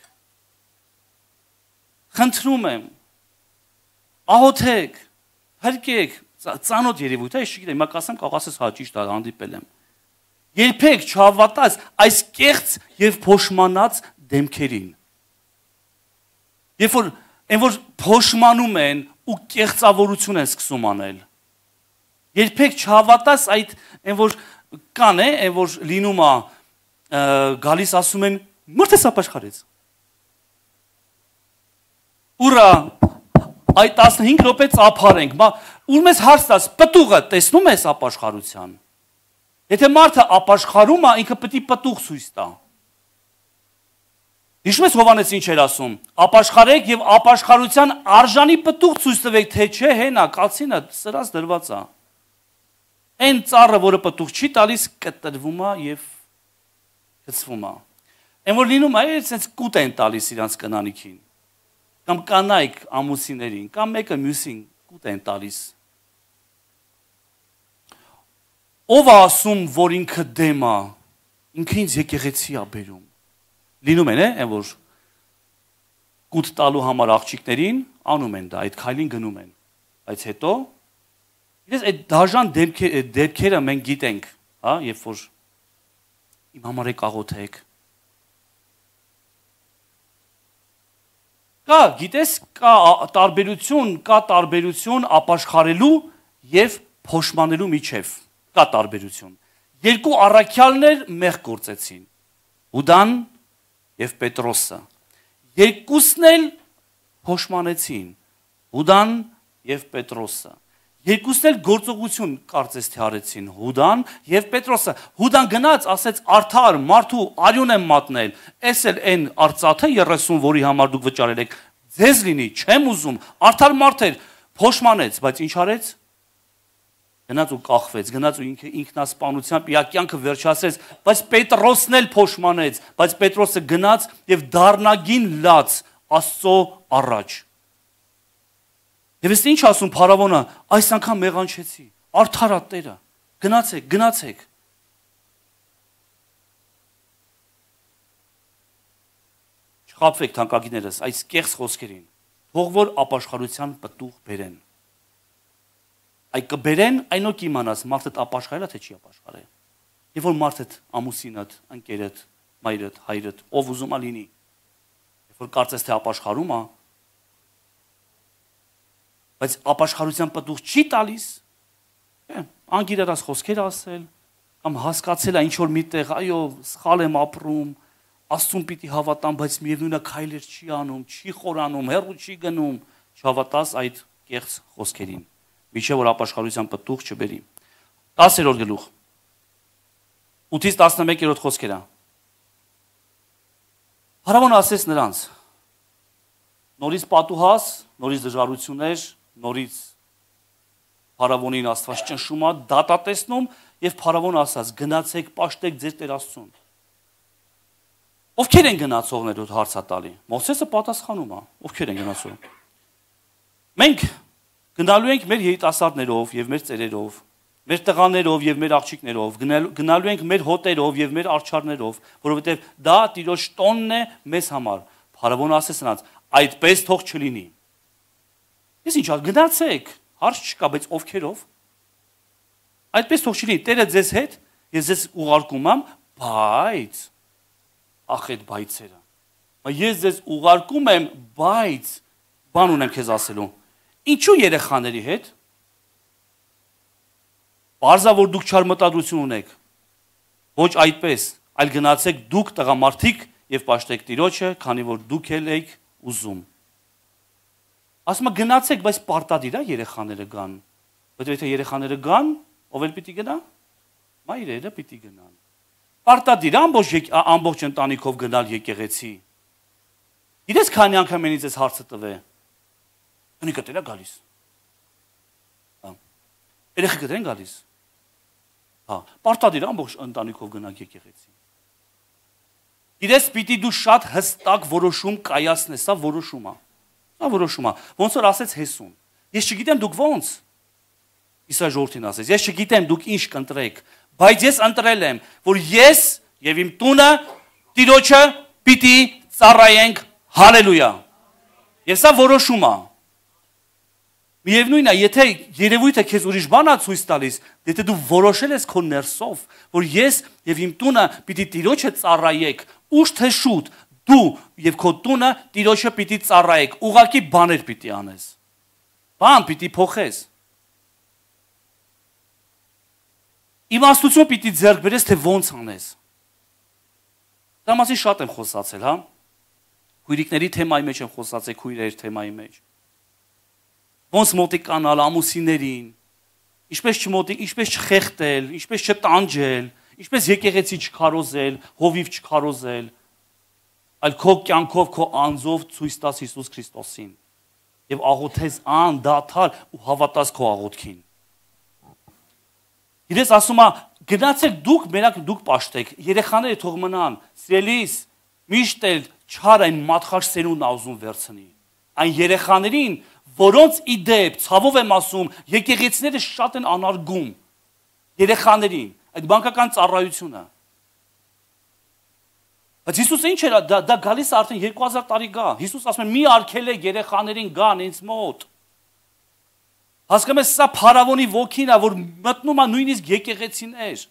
խնդրում եմ, ահոթեք, հրկեք, ծանոթ երևույթ է, ես չգիտեմ, հիմա կասեմ, կարող ասես հա ճիշտ է, հանդիպել եմ։ Երբեք չհավատաս այս կեղծ եւ փոշմանած դեմքերին։ Երբ որ այն որ փոշմանում են ու կեղծավորություն են սկսում անել։ Երբեք չհավատաս այդ այն որ կան է, այն որ լինում է գալիս ասում են մորթես ապաշխարեց։ Ուրա այդ տասնհինգ րոպե ծափարենք, բա ուր մեզ հարց տաս, պտուղը տեսնում ես ապաշխարության։ Եթե մարդը ապաշխարում է, ինքը պետք է պտուղ ցույց տա։ Հիշում ես Հովհաննես ինչ էր ասում, ապաշխարեք եւ ապաշխարության արժանի պտուղ ցույց տվեք, թե չէ հենա, կացինը սրած դրված է։ Այն ծառը, որը պտուղ չի տալիս, կտրվում է եւ գցվում է։ Այն որ լինում է, այսպես կուտ են տալիս իրանց կնանիքին։ Կամ կանայք ամուսիներին, կամ մեկը մյուսին կուտ են տալիս։ Ով է ասում, որ ինքը դեմ է, ինքը ինձ եկեղեցի է բերում։ Լինում են, այն որ կուտ տալու համար աղջիկներին անում են դա, այդ քայլին գնում են։ Բայց հետո իրենց այդ դաժան դեպքերը մենք գիտենք, հա, երբ որ իմ համար եք աղոթեք։ Կա, գիտես, կա տարբերություն, կա տարբերություն ապաշխարելու եւ փոշմանելու միջև։ Կա տարբերություն։ Երկու առաքյալներ մեղ գործեցին։ Հուդան եւ Պետրոսը։ Երկուսն էլ փոշմանեցին։ Հուդան եւ Պետրոսը։ Երկուսն էլ գործողություն կարծես թե արեցին Հուդան եւ Պետրոսը։ Հուդան գնաց, ասեց արդար մարդու արյուն եմ մատնել։ Էս էլ այն արծաթը երեսուն, որի համար դուք վճարել եք, ձեզ լինի, չեմ ուզում։ Արդար մարդ էր, փոշմանեց, բայց ինչ արեց։ Գնաց ու կախվեց, գնաց ու ինքը ինքնասպանությամբ իր կյանքը վերջացրեց, բայց Պետրոսն էլ փոշմանեց, բայց Պետրոսը գնաց եւ դառնագին լաց Աստծո առաջ։ Եվ ես ինչ ասում փարավոնը, այս անգամ մեղանչեցի, արդարա Տերը, գնացեք, գնացեք։ Չխաբվեք թանկագիներս այս կեղծ խոսքերին, թող որ ապաշխարության պտուղ բերեն։ Այդ կբերեն, այնո կիմանաս մարդդ ապաշխարել է թե չի ապաշխարել։ Եվ որ մարդդ ամուսինդ, ընկերդ, մայրդ, հայրդ, ով ուզում է լինի, երբ որ կարծես թե ապաշխարում է, բայց ապաշխարության պտուղ չի տալիս, անգիրարած խոսքեր ասել, կամ հասկացել է ինչ որ միտեղ, այո, սխալ եմ ապրում, Աստծուն պիտի հավատամ, բայց միևնույնը քայլեր չի անում, չի խորանում, հեռու չի գնում, չհավատաս այդ կեղծ խոսքերին։ Միջև որ ապաշխարության պտուղ չբերի։ տասերորդ գլուխ ութից տասնմեկերորդ խոսքերը։ Փարավոնը ասեց նրանց. նորից պատուհաս, նորից դժվարություններ, նորից փարավոնին Աստված ճնշում է, դատատեսնում եւ փարավոնը ասաց. գնացեք, պաշտեք ձեր Տեր Աստծուն։ Ովքեր են գնացողներ ու հարցատալի։ Մովսեսը պատասխանում է, ովքեր են գնացող։ Մենք գնալու ենք մեր երիտասարդներով եւ մեր ծերերով, մեր տղաներով եւ մեր աղջիկներով, գնալու ենք մեր հոտերով եւ մեր արջառներով, որովհետեւ դա Տիրոջ տոնն է մեզ համար։ Փարավոնը ասեց նրանց. այդպես թող չլինի։ Ես ինչ ասեմ, գնացեք, հարց չկա, բայց ովքերով։ Այդպես թող չլինի, Տերը ձեզ հետ, ես ձեզ ուղարկում եմ, բայց ախ այդ բայցերը։ Ես ձեզ ուղարկում եմ, բայց բան ունեմ քեզ ասելու։ Ինչու երեխաների հետ։ Պարզա որ դուք չար մտադրություն ունեք։ Ոչ այդպես, այլ գնացեք դուք տղամարդիկ եւ պաշտեք Տիրոջը, քանի որ դուք էլ եք ուզում։ Ասում եմ գնացեք, բայց պարտադիր է երեխաները գան։ Բայց եթե երեխաները գան, ով էլ պիտի գնա։ Մայրերը պիտի գնան։ Պարտադիր ամբողջ ամբողջ ընտանիքով գնալ եկեղեցի։ Գիտես քանի անգամ ինձ այս հարցը տվե։ Ընիկը դերա գալիս։ Հա։ Երեխեքը դեն գալիս։ Հա, պարտադիր ամբողջ ընտանիքով գնալ եկեղեցի։ Գիտես պիտի դու շատ հստակ որոշում կայացնես, սա որոշում է։ Սա որոշում է։ Ոնց որ ասեց Հեսուն։ Ես չգիտեմ դուք ոնց։ Իսա ժողովրդին ասեց, ես չգիտեմ դուք ինչ կընտրեք, բայց ես ընտրել եմ, որ ես եւ իմ տունը Տիրոջը պիտի ծառայենք, հալելույա։ Եվ սա որոշում է։ Միևնույնն է, եթե երևույթը քեզ ուրիշ բան է ցույց տալիս, եթե դու որոշել ես քո ներսով, որ ես եւ իմ տունը պիտի Տիրոջը ծառայեք, ուշ թե շուտ դու եւ քո տունը Տիրոջը պիտի ծառայեք, ուղղակի բաներ պիտի անես։ Բան պիտի փոխես։ Իմաստություն պիտի ձեռք բերես, թե ոնց անես։ Դա մասի շատ եմ խոսացել, հա։ Քույրիկների թեմայի մեջ եմ խոսացել, քույրերի թեմայի մեջ։ Ոնց մոտիկանալ ամուսիներին, ինչպես չմոտիկ, ինչպես չխեղտել, ինչպես չտանջել, ինչպես եկեղեցի չքարոզել, հովիվ չքարոզել, այլ քո կյանքով, քո անձով ցույց տաս Հիսուս Քրիստոսին եւ աղոթես անդադար ու հավատաս քո աղոթքին։ Իրես ասում է, գնացեք դուք, մենակ դուք պաշտեք, երեխաները թող մնան, սիրելիս, միշտ էլ չար այն մատխաշ սերունդն ուզում վերցնի։ Այն երեխաներին, որոնց իդեպ, ցավով եմ ասում, եկեղեցիները շատ են անարգում երեխաներին, այդ բանկական ծառայությունը։ Բայց Հիսուսը ինչ էր, դա, դա գալիս է արդեն երկու հազար տարի գա։ Հիսուս ասում է, մի արգելեք երեխաներին գան ինձ մոտ։ Հասկանում ես, սա փարավոնի ոգին է, որ մտնում է նույնիսկ եկեղեցիներ։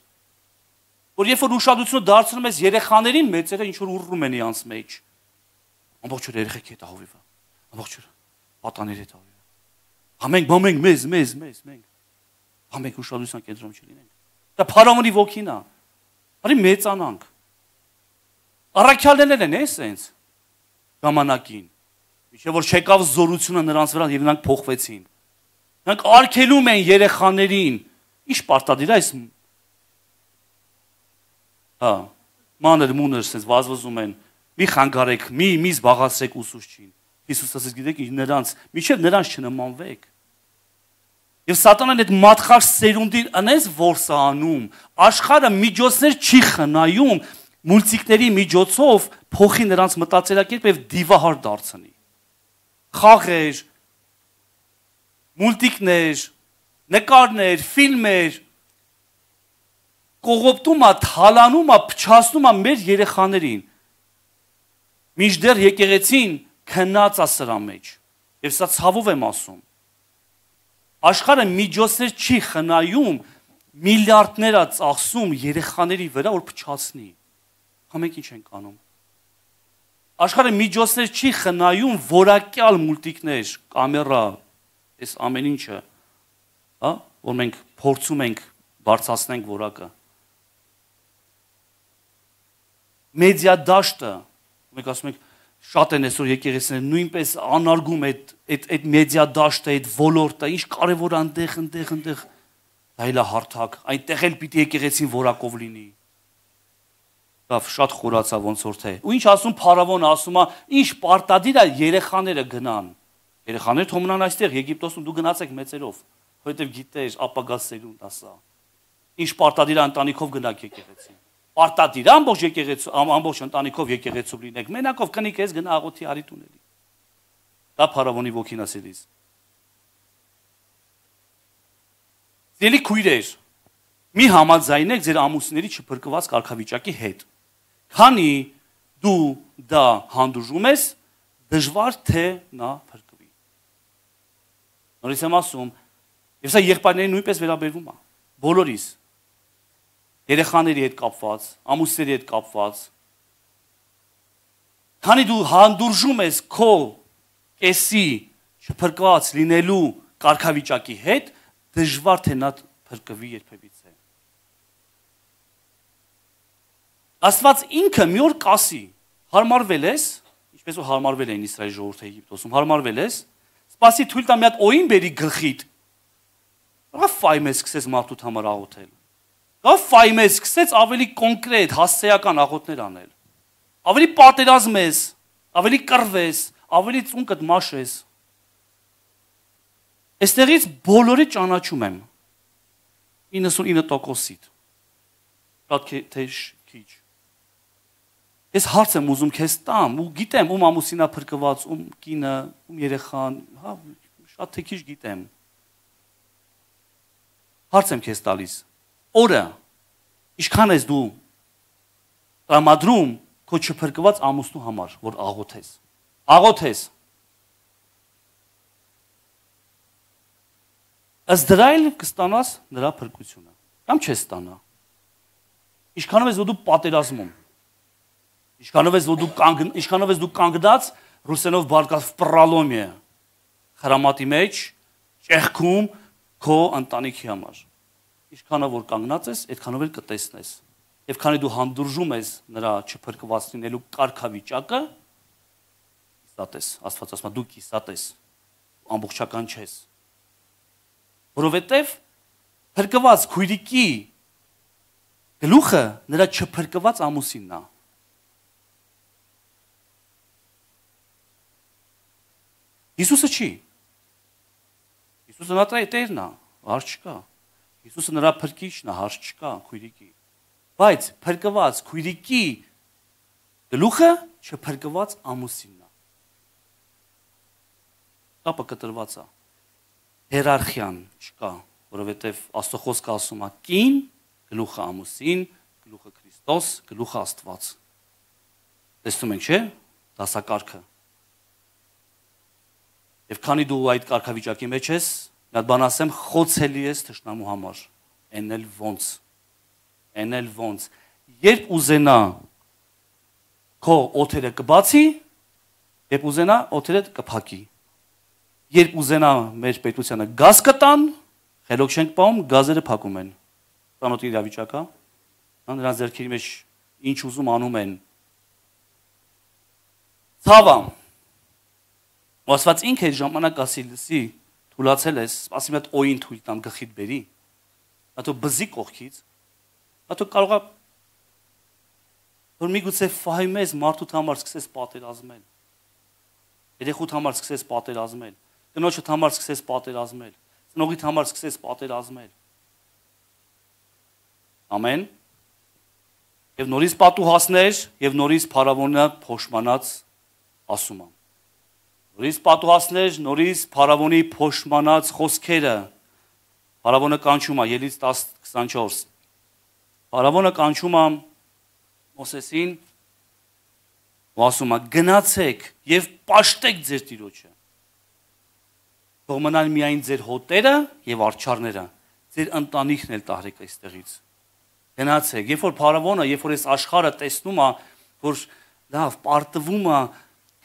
Որ երբ որ ուշադրությունը դարձնում ես երեխաներին, մեծերը ինչ որ ուռում են իրանց մեջ։ Ամբողջ օր երեխեք հետ ահովիվը։ Ամբողջ օր պատաների հետ ահովիվը։ Համենք, բամենք, մեզ, մեզ, մեզ, մենք։ Համենք ուշադրության կենտրոնում չլինենք։ Դա փարավոնի ոգին է։ Արի մեծանանք։ Առաքյալներն են, էսենց ժամանակին։ Միջև որ չեկավ զորությունը նրանց վրա եւ նրանք փոխվեցին։ Նրանք արգելում են երեխաներին։ Ինչ պարտադիր է այս։ Հա, մանր մուներ sense վազվզում են։ Մի խանգարեք, մի մի զբաղացրեք ուսուցչին։ Հիսուս ասեց, գիտեք, նրանց, միջև նրանց չնմանվեք։ Եվ սատանան այդ մատխաշ սերունդին անես որսա անում, աշխարհը միջոցներ չի խնայում մուլտիկների միջոցով փոխի նրանց մտածելակերպը եւ դիվահար դարձնի։ Խաղեր, մուլտիկներ, նկարներ, ֆիլմեր կողոպտում է, թալանում է, փչացնում է մեր երեխաներին։ Մինչդեռ եկեղեցին քնած է սրա մեջ։ Եվ սա ցավով եմ ասում։ Աշխարհը միջոցներ չի խնայում միլիարդներ է ծախսում երեխաների վրա, որ փչացնի։ Համենք ինչ ենք անում։ Աշխարհը միջոցներ չի խնայում որակյալ մուլտիկներ, կամերա, այս ամեն ինչը, հա, որ մենք փորձում ենք բարձրացնենք որակը։ Մեդիա դաշտը, մենք ասում ենք շատ են այսօր եկեղեցիները նույնպես անարգում այդ այդ այդ մեդիա դաշտը, այդ ոլորտը, ինչ կարևոր այնտեղ, այնտեղ, այնտեղ դա էլ է հարթակ, այնտեղ էլ պիտի եկեղեցին որակով լինի։ Լավ, շատ խորացա ոնց որ թե։ Ու ինչ ասում փարավոնը, ասում է, ինչ պարտադիր է երեխաները գնան։ Երեխաները թող մնան այստեղ Եգիպտոսում, դու գնացեք մեծերով, որովհետև գիտես ապագա սերունդ ասա։ Ինչ պարտադիր է ընտանիքով գնաք եկեղեցին։ Պարտադիր ամբողջ եկեղեցու, ամբողջ ընտանիքով եկեղեցու լինեք։ Մենակով կնիկ ես գնա աղոթի արի տուների։ Դա փարավոնի ոգին ասելիս։ Ձելի քույրեր, մի համաձայնեք ձեր ամուսինների չփրկված կարգավիճակի հետ։ Քանի դու դա հանդուրժում ես, դժվար թե նա փրկվի։ Նորից եմ ասում, եւ սա եղբայրներին նույնպես վերաբերվում է։ Բոլորիս երեխաների հետ կապված, ամուսինների հետ կապված։ Քանի դու հանդուրժում ես քո կեսի չփրկված լինելու կարգավիճակի հետ, դժվար թե նա փրկվի երբևիցե։ Աստված ինքը մի օր կասի, հարմարվել ես, ինչպես որ հարմարվել էին Իսրայելի ժողովուրդը Եգիպտոսում, հարմարվել ես, սպասի թույլ տա մի հատ օին բերի գլխիդ։ Ահա ֆայմես սկսես մարդուդ համար աղոթել։ Դա ֆայմես սկսեց ավելի կոնկրետ, հասցեական աղոթներ անել։ Ավելի պատերազմես, ավելի կռվես, ավելի ծունկդ մաշես։ Այստեղից բոլորի ճանաչում եմ։ իննսունինը տոկոսիդ։ Շատ թե քիչ։ Ես հարց եմ ուզում քեզ տամ, ու գիտեմ ում ամուսինա փրկված, ում կինը, ում երեխան, հա, շատ թե քիչ գիտեմ։ Հարց եմ քեզ տալիս։ Օրը ինչքան ես դու տրամադրում քո չփրկված ամուսնու համար, որ աղոթես։ Աղոթես։ Ըստ դրա էլ կստանաս նրա փրկությունը։ Կամ չես ստանա։ Ինչքանով ես որ դու պատերազմում։ Ինչքանով ես որ դու կանգ ինչքանով ես դու կանգնած ռուսերենով բարգած վպռալոմիե խրամատի մեջ ճեղքում քո ընտանիքի համար։ Ինչքանով որ կանգնած ես, այդքանով էլ կտեսնես։ Եվ քանի դու հանդուրժում ես նրա չփրկված լինելու կարգավիճակը, կիսատ ես, Աստված ասում է դու կիսատ ես, ամբողջական չես։ Որովհետև փրկված քույրիկի գլուխը նրա չփրկված ամուսինն է։ Հիսուսը չի։ Հիսուսը նա տերն է, հարց չկա։ Հիսուսը նրա փրկիչն է, հարց չկա քույրիկի։ Բայց փրկված քույրիկի գլուխը չփրկված ամուսինն է։ Կապը կտրված է։ Հիերարխիան չկա, որովհետև Աստծո խոսքը ասում է կին, գլուխը ամուսին, գլուխը Քրիստոս, գլուխը Աստված։ Տեսնում ենք, չէ՞, դասակարգը։ Եվ քանի դու այդ կարգավիճակի մեջ ես, մի հատ բան ասեմ, խոցելի ես թշնամու համար։ Էն էլ ոնց։ Էն էլ ոնց։ Երբ ուզենա քո օթերը կբացի, երբ ուզենա օթերը կփակի։ Երբ ուզենա մեր պետությանը գազ կտան, խելոք չենք պահում, գազերը փակում են։ Ծանոթ իրավիճակա, նրանց ձեռքերի մեջ ինչ ուզում անում են։ Ցավը։ Աստված ինքը այդ ժամանակ ասի լսի, թուլացել ես, սպասի մի հատ օին թույլ տամ գլխիդ բերի։ Հատո բզի կողքից, հատո կարող է որ միգուցե ֆայմես մարդուդ համար սկսես պատերազմել։ Երեխուդ համար սկսես պատերազմել։ Կնոջդ համար սկսես պատերազմել։ Ծնողիդ համար սկսես պատերազմել։ Ամեն։ Եվ նորից պատուհասներ, եւ նորից փարավոնը փոշմանած ասում եմ։ Նորից պատուհասներ, նորից փարավոնի փոշմանած խոսքերը։ Փարավոնը կանչում է Ելից տասը քսանչորս։ Փարավոնը կանչում է Մովսեսին ու ասում է. գնացեք եւ պաշտեք ձեր տիրոջը։ Թող մնան միայն ձեր հոտերը եւ արջառները, ձեր ընտանիքն էլ տարեք այստեղից։ Գնացեք, երբ որ փարավոնը, երբ որ այս աշխարհը տեսնում է, որ լավ պարտվում է,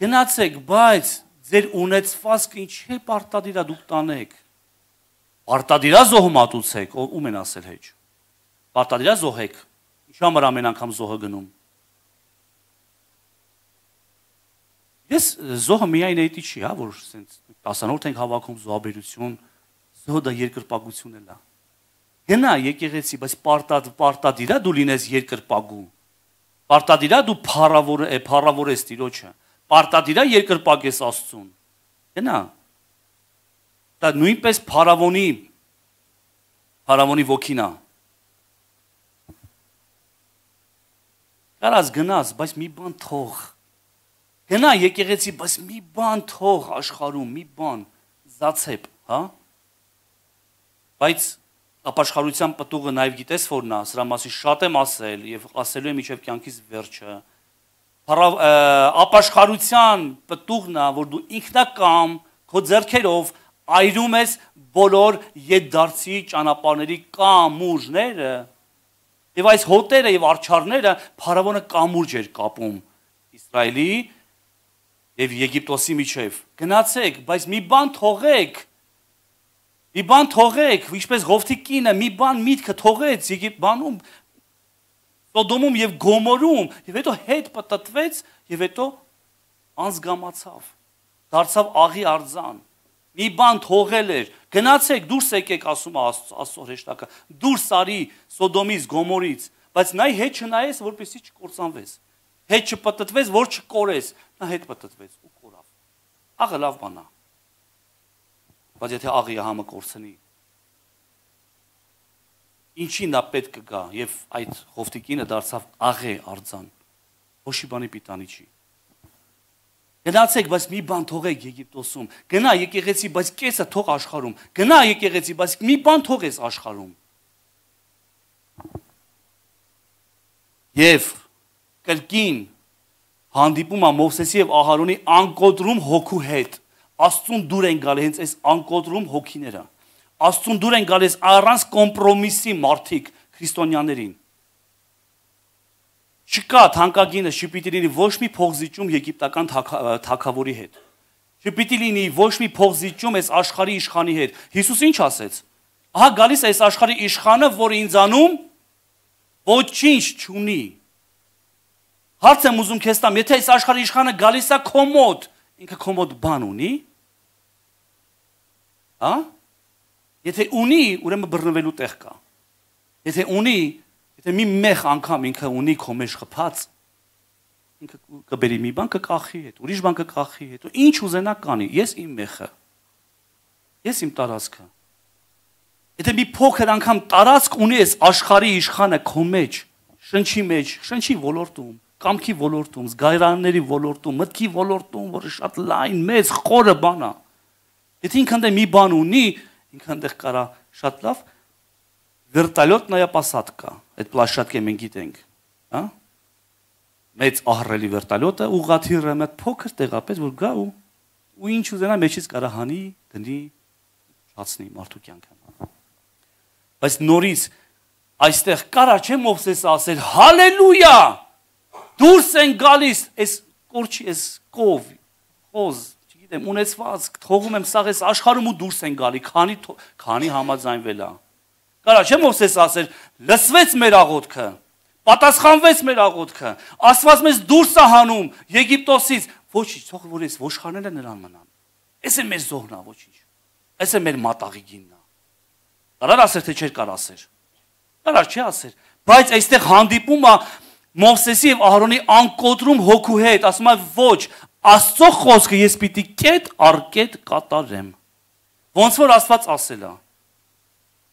գնացեք, բայց ձեր ունեցվածքը ինչ է պարտադիր է դուք տանեք։ Պարտադիր է զոհ մատուցեք, ում են ասել հեչ։ Պարտադիր է զոհեք։ Ինչ համար ամեն անգամ զոհը գնում։ Ես զոհը միայն այդի չի, հա, որ ասենց տասանորդ ենք հավաքում զոհաբերություն, զոհը դա երկրպագություն էլ է։ Գնա եկեղեցի, բայց պարտադ պարտադիր է դու լինես երկրպագու։ Պարտադիր է դու փառավոր է, փառավորես Տիրոջը։ Պարտադիր է երկրպագես Աստծուն։ Գնա։ Դա նույնպես փառավոնի փառավոնի ոգին է։ Կարաս գնաս, բայց մի բան թող։ Գնա եկեղեցի, բայց մի բան թող աշխարհում, մի բան զացեպ, հա։ Բայց ապաշխարության պտուղը նաև գիտես որն է, սրա մասին շատ եմ ասել եւ ասելու եմ մինչեւ կյանքիս վերջը։ Ապաշխարության պտուղն է, որ դու ինքնակամ քո ձեռքերով այրում ես բոլոր ետդարձի ճանապարհների կամուրջները։ Եվ այս հոտերը եւ արջառները փարավոնը կամուրջ էր կապում Իսրայելի եւ Եգիպտոսի միջև։ Գնացեք, բայց մի բան թողեք։ Մի բան թողեք, ինչպես Ղովթի կինը մի բան միտքը թողեց Եգիպտանում, Սոդոմում եւ Գոմորում, եւ հետո հետ պատտվեց եւ հետո անզգամացավ։ Դարձավ աղի արձան։ Մի բան թողել էր։ Գնացեք, դուրս եկեք, ասում է Աստծո հրեշտակը։ Դուրս արի Սոդոմից, Գոմորից, բայց նայ հետ չնայես, որպեսզի չկործանվես։ Հետ չպտտվես, որ չկորես։ Նա հետ պտտվեց ու կորավ։ Աղը լավ բան է։ Բայց եթե աղի համը կորցնի, ինչին դա պետք կգա եւ այդ Ղովթի կինը դարձավ աղե արձան։ Ոչի բանի պիտանի չի։ Գնացեք, բայց մի բան թողեք Եգիպտոսում։ Գնա եկեղեցի, բայց կեսը թող աշխարհում։ Գնա եկեղեցի, բայց մի բան թողես աշխարհում։ Եվ կրկին հանդիպում է Մովսեսի եւ Ահարոնի անկոտրում հոգու հետ։ Աստծուն դուր են գալի հենց այս անկոտրում հոգիները։ Աստծուն դուր են գալիս առանց կոմպրոմիսի մարդիկ քրիստոնյաներին։ Չկա թանկագինը չպիտի լինի ոչ մի փողզիջում եգիպտական թագավորի հետ։ Չպիտի լինի ոչ մի փողզիջում այս աշխարհի իշխանի հետ։ Հիսուս ինչ ասեց։ Ահա գալիս է այս աշխարհի իշխանը, որը ինձանում ոչինչ չունի։ Հարց եմ ուզում քեզ տամ, եթե այս աշխարհի իշխանը գալիս է քո մոտ, ինքը քո մոտ բան ունի։ Հա? Եթե ունի, ուրեմն բռնվելու տեղ կա։ Եթե ունի, եթե մի մեղ անգամ ինքը ունի քո մեջ խփած, ինքը կբերի մի բան կկախի հետ, ուրիշ բան կկախի հետ, ու ինչ ուզենա կանի, ես իմ մեխը, ես իմ տարածքը։ Եթե մի փոքր անգամ տարածք ունի այս աշխարհի իշխանը քո մեջ, շնչի մեջ, շնչի ոլորտում, կամքի ոլորտում, զգայարանների ոլորտում, մտքի ոլորտում, որը շատ լայն, մեծ, խորը բան է։ Եթե ինքն դե մի բան ունի, ինքն դե կարա շատ լավ վերտալյոտ նայապասատկա, այդ պլաշատկը մենք գիտենք, հա? Մեծ ահռելի վերտալյոտը ուղղաթիռը մեծ փոքր տեղապես որ գա ու ու ինչ ուզենա մեջից կարա հանի, դնի, չացնի մարդու կյանքը։ Բայց նորից այստեղ կարա չէ Մովսեսը ասել հալելույա, դուրս են գալիս այս կորչի, այս կով, խոզ, չգիտեմ, ունեցված, թողում եմ սաղ այս աշխարհում ու դուրս են գալի, քանի քանի համաձայնվել է։ Կարա չէ Մովսեսը ասել լսվեց մեր աղոթքը, պատասխանվեց մեր աղոթքը, Աստված մեզ դուրս է հանում Եգիպտոսից, ոչինչ, թող որ այս ոչխարները նրան մնան։ Էս է մեր զոհն է, ոչինչ։ Էս է մեր մատաղի գինն է։ Կարար ասեր թե չէր կար ասեր։ Կարար չի ասեր, բայց այստեղ հանդիպում է Մովսեսի եւ Ահարոնի անկոտրում հոգու հետ, ասում է ոչ, Աստծո խոսքը ես պիտի կետ առ կետ կատարեմ։ Ոնց որ Աստված ասել է։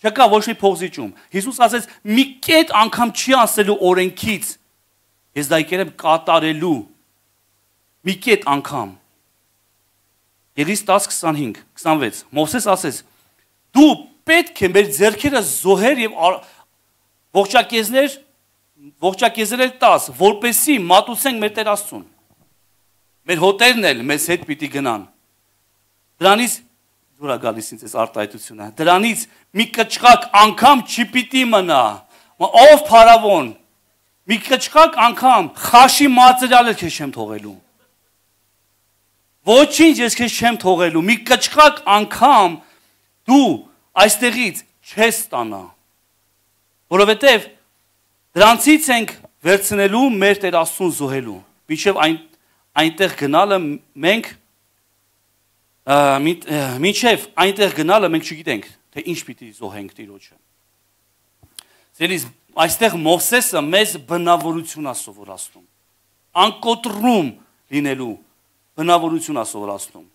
Չկա ոչ մի փողզիջում։ Հիսուս ասեց՝ մի կետ անգամ չի ասելու օրենքից։ Ես դա եկել եմ կատարելու։ Մի կետ անգամ։ Ելից տասը քսանհինգ քսանվեց։ Մովսես ասեց. դու պետք է մեր ձեռքերը զոհեր եւ ողջակեզներ ողջակեզներ տաս, որպեսի մատուցենք մեր Տեր Աստծուն։ Մեր հոտերն էլ մեզ հետ պիտի գնան։ Դրանից դուր է գալիս ինձ այս արտահայտությունը։ Դրանից մի կճղակ անգամ չպիտի մնա։ Ով փարավոն։ Մի կճղակ անգամ խաշի մածերյալ էլ քեզ չեմ թողելու։ Ոչինչ ես քեզ չեմ թողելու։ Մի կճղակ անգամ դու այստեղից չես ստանա։ Որովհետև դրանցից ենք վերցնելու մեր Տեր Աստծուն զոհելու։ Մինչև այն այնտեղ գնալը մենք մինչև այնտեղ գնալը մենք չգիտենք, թե ինչ պիտի զոհենք Տիրոջը։ Ձերից այստեղ Մովսեսը մեզ բնավորություն է սովորացնում։ Անկոտրում լինելու բնավորություն է սովորացնում։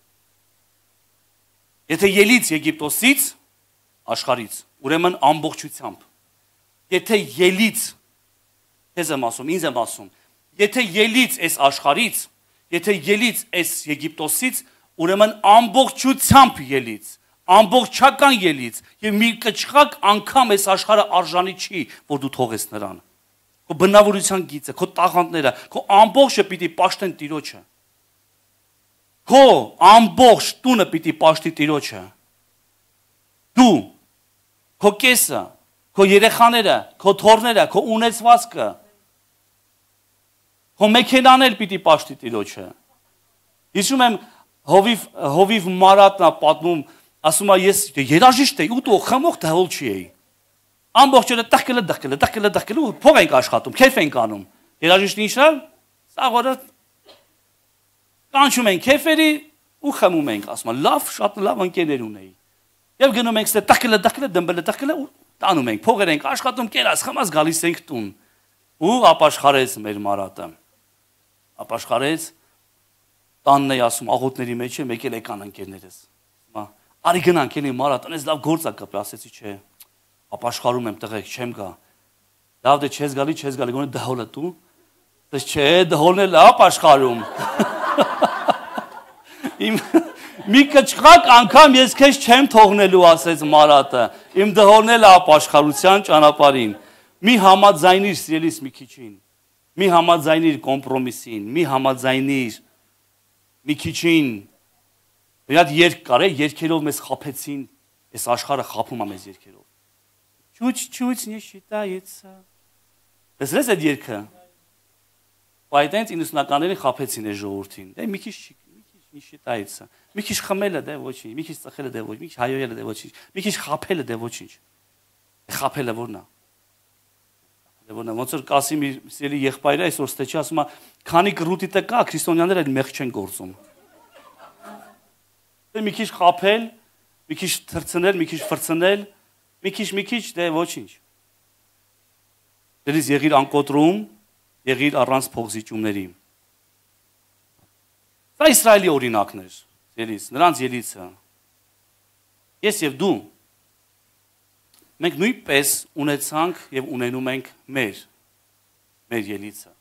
Եթե ելից Եգիպտոսից, աշխարից, ուրեմն ամբողջությամբ։ Եթե ելից, ես եմ ասում, ինձ եմ ասում, եթե ելից այս աշխարից, եթե ելից այս Եգիպտոսից, ուրեմն ամբողջությամբ ելից, ամբողջական ելից, եւ մի կճղակ անգամ այս աշխարհը արժանի չի, որ դու թողես նրան։ Քո բնավորության գիծը, քո տաղանդները, քո ամբողջը պիտի պաշտեն Տիրոջը։ Քո ամբողջ տունը պիտի պաշտի Տիրոջը։ Դու, քո կեսը, քո երեխաները, քո թոռները, քո ունեցվածքը, քո մեքենան էլ պիտի պաշտի Տիրոջը։ Հիշում եմ Հովիվ Հովիվ Մարատնա պատմում, ասում է ես երաժիշտ էի, ու դու խմող դահոլ չի էի։ Ամբողջը տակելը դակելը դակելը դակելը փող ենք աշխատում, քեֆ ենք անում։ Երաժիշտը ինչա՞, սաղորը կանչում ենք քեֆերի ու խմում ենք, ասում է լավ, շատ լավ ընկերներ ունեի։ Եվ գնում ենք ստե տակելը դակելը դմբելը տակելը ու տանում ենք, փողեր ենք աշխատում, կերած խմած գալիս ենք տուն։ Ու ապաշխարեց մեր Մարատը։ Ապաշխարեց տանն է ասում աղոթների մեջ է եկել եկան ընկերներս։ Հիմա արի գնանք էլի Մարատ, այնպես լավ գործ է կապի, ասեցի չէ։ Ապաշխարում եմ տղեկ, չեմ գա։ Լավ դե չես գալի, չես գալի, գոնե դահոլը դու։ Դες չէ, դահոլն էլ ապաշխարում։ Իմ մի կճղակ անգամ ես քեզ չեմ թողնելու, ասեց Մարատը։ Իմ դահոլն էլ ապաշխարության ճանապարհին։ Մի համաձայնիր սիրելիս մի քիչին։ Մի համաձայնիր կոմպրոմիսին, մի համաձայնիր մի քիչին։ Մի հատ երգ կար է, երգերով մեզ խափեցին, այս աշխարհը խափում է մեզ երգերով։ Чуть-чуть не считается։ Լսես այդ երգը։ Բայց իննսունականներին խափեցին այս ժողովրդին։ Դե մի քիչ մի քիչ не считается։ Մի քիչ խմելը դե ոչինչ, մի քիչ ծխելը դե ոչ, մի քիչ հայոյելը դե ոչինչ, մի քիչ խափելը դե ոչինչ։ Խափելը որն է։ Որն է, ոնց որ Կասիմի սիրելի եղբայրը այսօր ստեչի ասում է, քանի կռուտիտը կա, քրիստոնյաները այդ մեղ չեն գործում։ Դե մի քիչ խափել, մի քիչ թրցնել, մի քիչ ֆրցնել, մի քիչ, մի քիչ, դե ոչինչ։ Դերից եղիր անկոտրում, եղիր առանց փողզիջումների։ Սա Իսրայելի օրինակն էր, ելից, նրանց ելիցը։ Ես եւ դու մենք նույնպես ունեցանք եւ ունենում ենք մեր մեր ելիցը։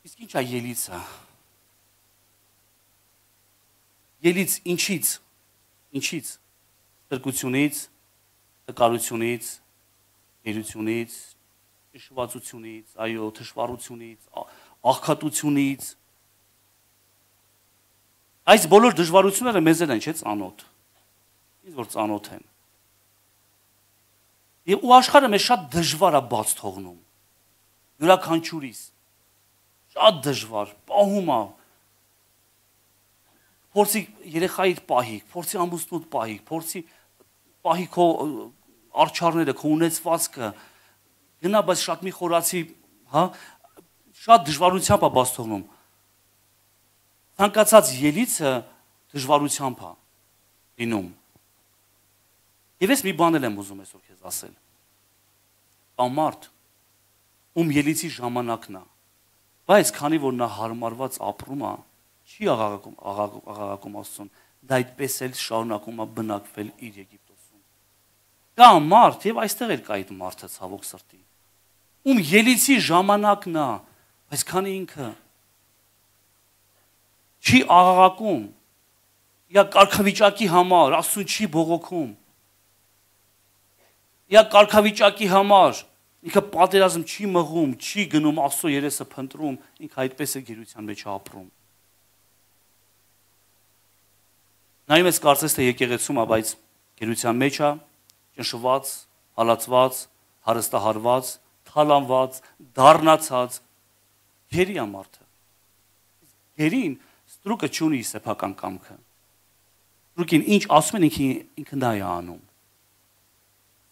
Իսկ ի՞նչ է ելիցը։ Ելից ինչից։ Ինչից։ Ստրկությունից, տկարությունից, գերությունից, ճշմարտությունից, այո, թշվառությունից, աղքատությունից։ Այս բոլոր դժվարությունները մեզ են, չէ՞, ծանոթ։ Ինձ որ ծանոթ են։ Եվ ու աշխարհը մեզ շատ դժվար է բաց թողնում։ Յուրաքանչյուրիս շատ դժվար, պահում է։ Փորձի երեխայիդ պահի, փորձի ամուսնուդ պահի, փորձի պահի քո արչարները, քո ունեցվածքը։ Գնա, բայց շատ մի խորացի, հա, շատ դժվարությամբ է բաց թողնում։ Ցանկացած ելիցը դժվարությամբ է լինում։ Եվ ես մի բան եմ ուզում այսօր քեզ ասել։ Կա մարդ, ում ելիցի ժամանակն է, բայց քանի որ նա հարմարված ապրում է, չի աղաղակում, աղաղակում Աստծուն, դա այդպես էլ շարունակում է բնակվել իր Եգիպտոսում։ Կա մարդ, եւ այստեղ էլ կա այդ մարդը ցավոք սրտի, ում ելիցի ժամանակն է, բայց քանի ինքը չի աղաղակում, یا կարգավիճակի համար Աստծուն չի բողոքում, یا կարգավիճակի համար ինքը պատերազմ չի մղում, չի գնում Աստծո երեսը փնտրում, ինքը այդպես է գերության մեջ ապրում։ Նայում ես կարծես թե եկեղեցում է, բայց գերության մեջ է, ճնշված, հալածված, հարստահարված, թալանված, դառնացած, գերի է մարդը։ Գերին ստրուկը չունի սեփական կամքը։ Ստրուկին ինչ ասում են ինքը ինքը դա է անում։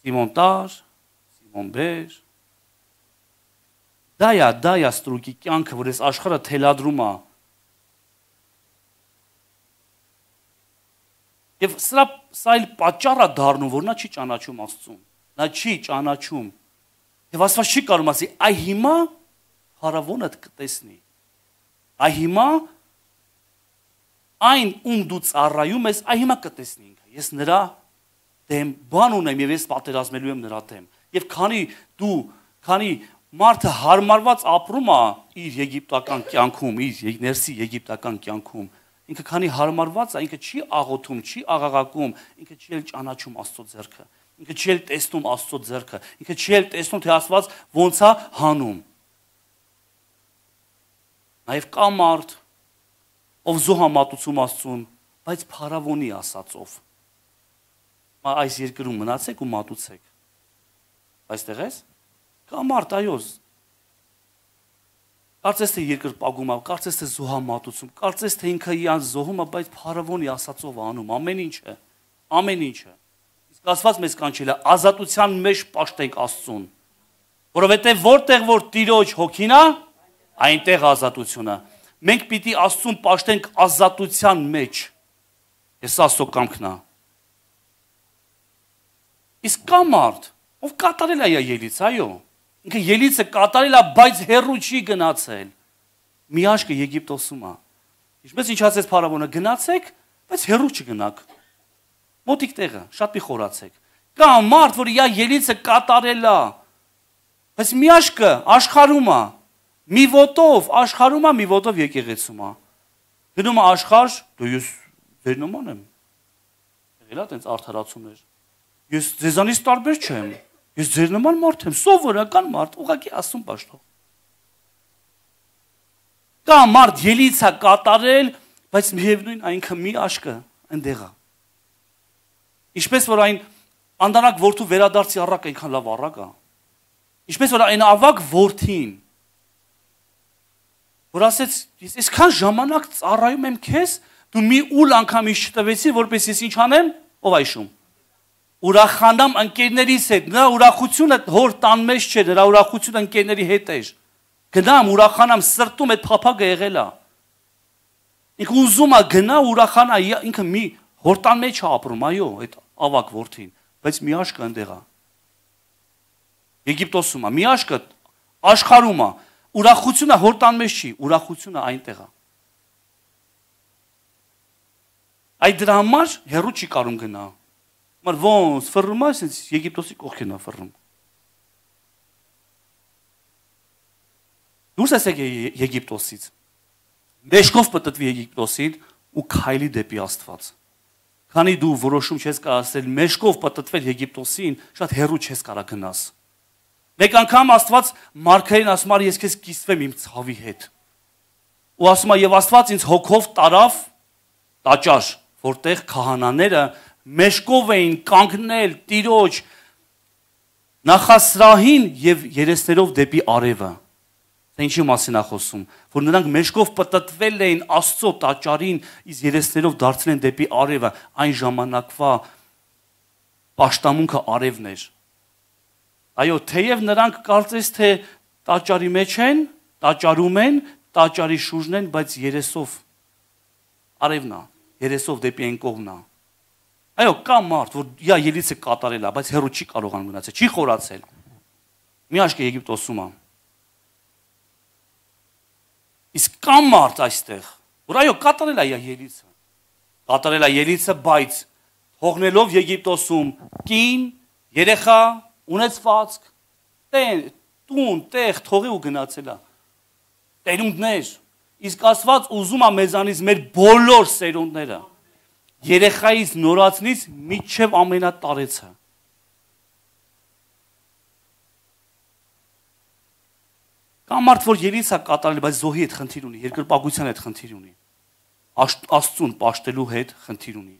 Սիմոն տար, Սիմոն բեր։ Դա է, դա է ստրուկի կյանքը, որ այս աշխարհը թելադրում է։ Եվ սրա սա էլ պատճառ է դառնում, որ նա չի ճանաչում Աստծուն։ Նա չի ճանաչում։ Եվ Աստված չի կարող ասի, այ հիմա փարավոնը կտեսնի։ Այ հիմա այն ում դու ծառայում ես, այ հիմա կտեսնի ինքը։ Ես նրա դեմ բան ունեմ եւ ես պատերազմելու եմ նրա դեմ։ Եվ քանի դու, քանի մարդը հարմարված ապրում է իր եգիպտական կյանքում, իր ներսի եգիպտական կյանքում, ինքը քանի հարմարված է, ինքը չի աղոթում, չի աղաղակում, ինքը չի էլ ճանաչում Աստծո ձեռքը, ինքը չի էլ տեսնում Աստծո ձեռքը, ինքը չի էլ տեսնում թե Աստված ոնց է հանում։ Նաև կա մարդ, ով զոհամատուցում Աստծուն, բայց փարավոնի ասածով։ Այս երկրում մնացեք ու մատուցեք։ Այստեղ ես։ Կա մարդ, այո, կարծես թե երկրպագում է, կարծես թե զոհամատուցում, կարծես թե ինքը իրան զոհում է, բայց փարավոնի ասածով անում ամեն ինչը, ամեն ինչը։ Իսկ Աստված մեզ կանչել է ազատության մեջ պաշտենք Աստծուն, որովհետև որտեղ որ Տիրոջ հոգին է, այնտեղ ազատությունը։ Մենք պիտի Աստծուն պաշտենք ազատության մեջ։ Ես Աստծո կամքն է։ Իսկ կա մարդ, ով կատարել է ելից, այո։ Ինքը ելիցը կատարել է, բայց հեռու չի գնացել։ Մի աշկը Եգիպտոսում է։ Ինչպես ինչ ասեց փարավոնը, գնացեք, բայց հեռու չգնաք։ Մոտիկ տեղը, շատ մի խորացեք։ Կա մարդ, որ իր ելիցը կատարել է, բայց մի աշկը աշխարհում է։ Մի ոտով աշխարհում է, մի ոտով եկեղեցում է։ Գնում է աշխարհ, դու ես ձեր նման եմ։ Եղել է տենց արդարացումներ։ Ես ձեզանից տարբեր չեմ։ Ես ձեր նման մարդ եմ, սովորական մարդ, ուղղակի Աստծուն պաշտող։ Կա մարդ ելիցա կատարել, բայց միևնույն այնքը մի աշկը այնտեղ է։ Ինչպես որ այն անդանակ որդու վերադարձի առակ այնքան լավ առակ է։ Ինչպես որ այն ավակ որդին, որ ասեց, ես այսքան ժամանակ ծառայում եմ քեզ, դու մի ուլ անգամ ինձ չտվեցի, որպես ես ինչ անեմ, ով այշում։ Ուրախանամ ընկերներիս հետ, նրա ուրախությունը հոր տան մեջ չէ, նրա ուրախությունը ընկերների հետ էր։ Գնամ, ուրախանամ, սրտում այդ փափագը եղել է։ Ինքը ուզում է գնա, ուրախանա, ինքը մի հոր տան մեջ է ապրում, այո, այդ ավակ որդին, բայց մի աշկը այնտեղ է։ Եգիպտոսում է, մի աշկը աշխարհում է, ուրախությունը հոր տան մեջ չի, ուրախությունը այնտեղ է։ Այդ դրա համար հեռու չի կարող գնա։ Մար ոնց ֆռում է, ասես Եգիպտոսի կողքին է ֆռում։ Դուրս եկեք Եգիպտոսից։ Մեջքով պատտվի Եգիպտոսին ու քայլի դեպի Աստված։ Քանի դու որոշում չես կայացրել մեջքով պատտվել Եգիպտոսին, շատ հեռու չես կարող գնաս։ Մեկ անգամ Աստված Մարգարին ասում է, ես քեզ կիսվեմ իմ ցավի հետ։ Ու ասում է, եւ Աստված ինձ հոգով տարավ տաճար, որտեղ քահանաները մեջքով էին կանգնել Տիրոջ նախասրահին եւ երեսներով դեպի արևը։ Դա ինչի մասին է խոսում, որ նրանք մեջքով պատտվել էին Աստծո տաճարին, իսկ երեսներով դարձել են դեպի արևը, այն ժամանակվա պաշտամունքը արևն էր։ Այո, թեև նրանք կարծես թե տաճարի մեջ են, տաճարում են, տաճարի շուրջն են, բայց երեսով արևն է, երեսով դեպի այն կողմն է։ Այո, կա մարդ, որ իա ելիցը կատարել է, բայց հեռու չի կարողանում գնացել, չի խորացել։ Մի աշկը Եգիպտոսում է։ Իսկ կա մարդ այստեղ, որ այո, կատարել է իա ելիցը, կատարել է ելիցը, բայց թողնելով Եգիպտոսում կին, երեխա, ունեցվածք, տուն, տեղ, թողի ու գնացել է։ Տերունդներ, իսկ Աստված ուզում է մեզանից մեր բոլոր սերունդները, երեխայից նորածնից մինչև ամենատարեցը։ Կա մարդ, որ ելից է կատարել, բայց զոհի հետ խնդիր ունի, երկրպագության հետ խնդիր ունի, Աստծուն պաշտելու հետ խնդիր ունի։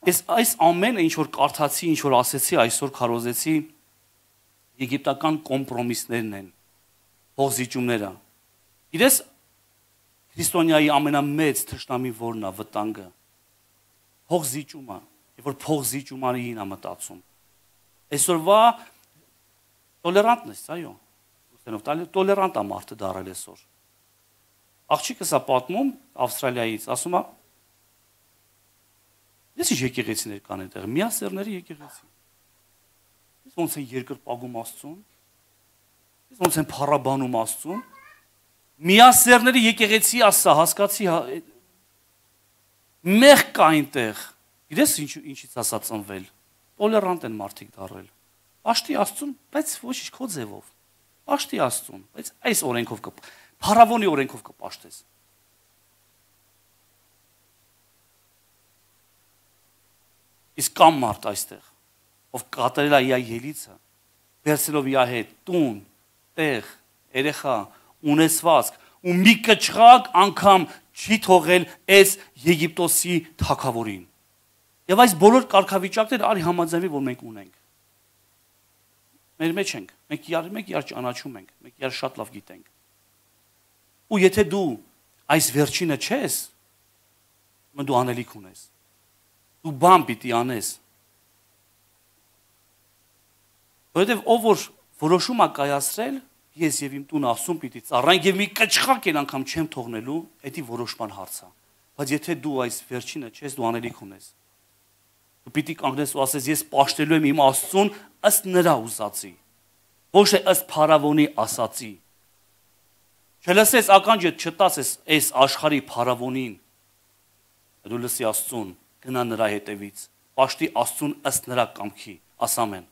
Այս այս ամենը ինչ որ կարդացի, ինչ որ ասեցի, այսօր քարոզեցի, եգիպտական կոմպրոմիսներն են, փողզիջումները։ Իրես քրիստոնյայի ամենամեծ թշնամի որն է վտանգը։ Փողզիջումը, երբ որ փողզիջումային է մտածում։ Այսօրվա տոլերանտն է, այո։ Ուսենով տոլերանտ է մարդը դարել այսօր։ Աղջիկս է պատմում Ավստրալիայից, ասում է. Ես ինչ եկեղեցիներ կան այնտեղ, միասեռների եկեղեցի։ Ես ոնց են երկրպագում Աստծուն, ես ոնց են փառաբանում Աստծուն։ Միասեռների եկեղեցի ասա, հասկացի, մեղ կա այնտեղ։ Իրես ինչ ինչից ասա ծնվել։ Տոլերանտ են մարդիկ դարել։ Պաշտի Աստծուն, բայց ոչ ինչ քո ձևով։ Պաշտի Աստծուն, բայց այս օրենքով կը փառավոնի օրենքով կպաշտես։ Իսկ կամ մարդ այստեղ, ով կատարել է իր ելիցը, վերցելով իր հետ տուն, տեղ, երեխա, ունեցվածք, ու մի կչղակ անգամ չի թողել այս Եգիպտոսի թագավորին։ Եվ այս բոլոր կարգավիճակները արի համաձայնվի, որ մենք ունենք։ Մեր մեջ ենք, մենք իրար մենք իրար ճանաչում ենք, մենք իրար շատ լավ գիտենք։ Ու եթե դու այս վերջինը չես, մը դու անելիք ունես։ Դու բան պիտի անես։ Որովհետև ով որ որոշում է կայացրել, ես եւ իմ տունը Աստծուն պիտի ծառայենք եւ մի կչղակ էլ անգամ չեմ թողնելու, դա որոշման հարց է։ Բայց եթե դու այս վերջինը չես, դու անելիք ունես։ Դու պիտի կանգնես ու ասես ես պաշտելու եմ իմ Աստծուն ըստ նրա ուզածի, ոչ թե ըստ փառավոնի ասածի։ Չլսես ականջդ չտասես այս աշխարհի փառավոնին, դու լսի Աստծուն, գնա նրա հետևից, պաշտի Աստծուն ըստ նրա կամքի, ասամեն։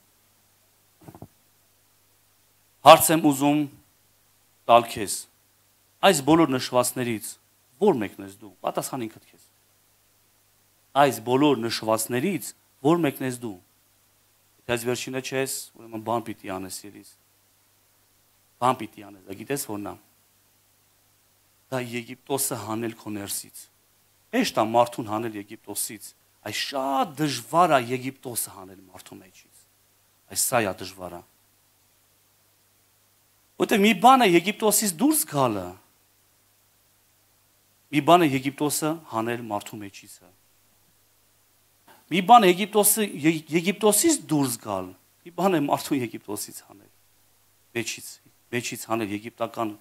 Հարց եմ ուզում տալ քեզ, այս բոլոր նշվածներից որ մեկն ես դու, պատասխան ինքդ քեզ։ Այս բոլոր նշվածներից որ մեկն ես դու։ Եթե այս վերջինը չես, ուրեմն բան պիտի անես ելիս։ Բան պիտի անես, դա գիտես որն է։ Դա Եգիպտոսը հանել քո ներսից։ Հեշտ է մարդուն հանել Եգիպտոսից, այս շատ դժվար է Եգիպտոսը հանել մարդու մեջից։ Այս սա է դժվարը։ Որտե մի բան է Եգիպտոսից դուրս գալը։ Մի բան է Եգիպտոսը հանել մարդու մեջից։ Մի բան է Եգիպտոսը Եգիպտոսից դուրս գալ, մի բան է մարդու Եգիպտոսից հանել։ Մեջից, մեջից հանել եգիպտական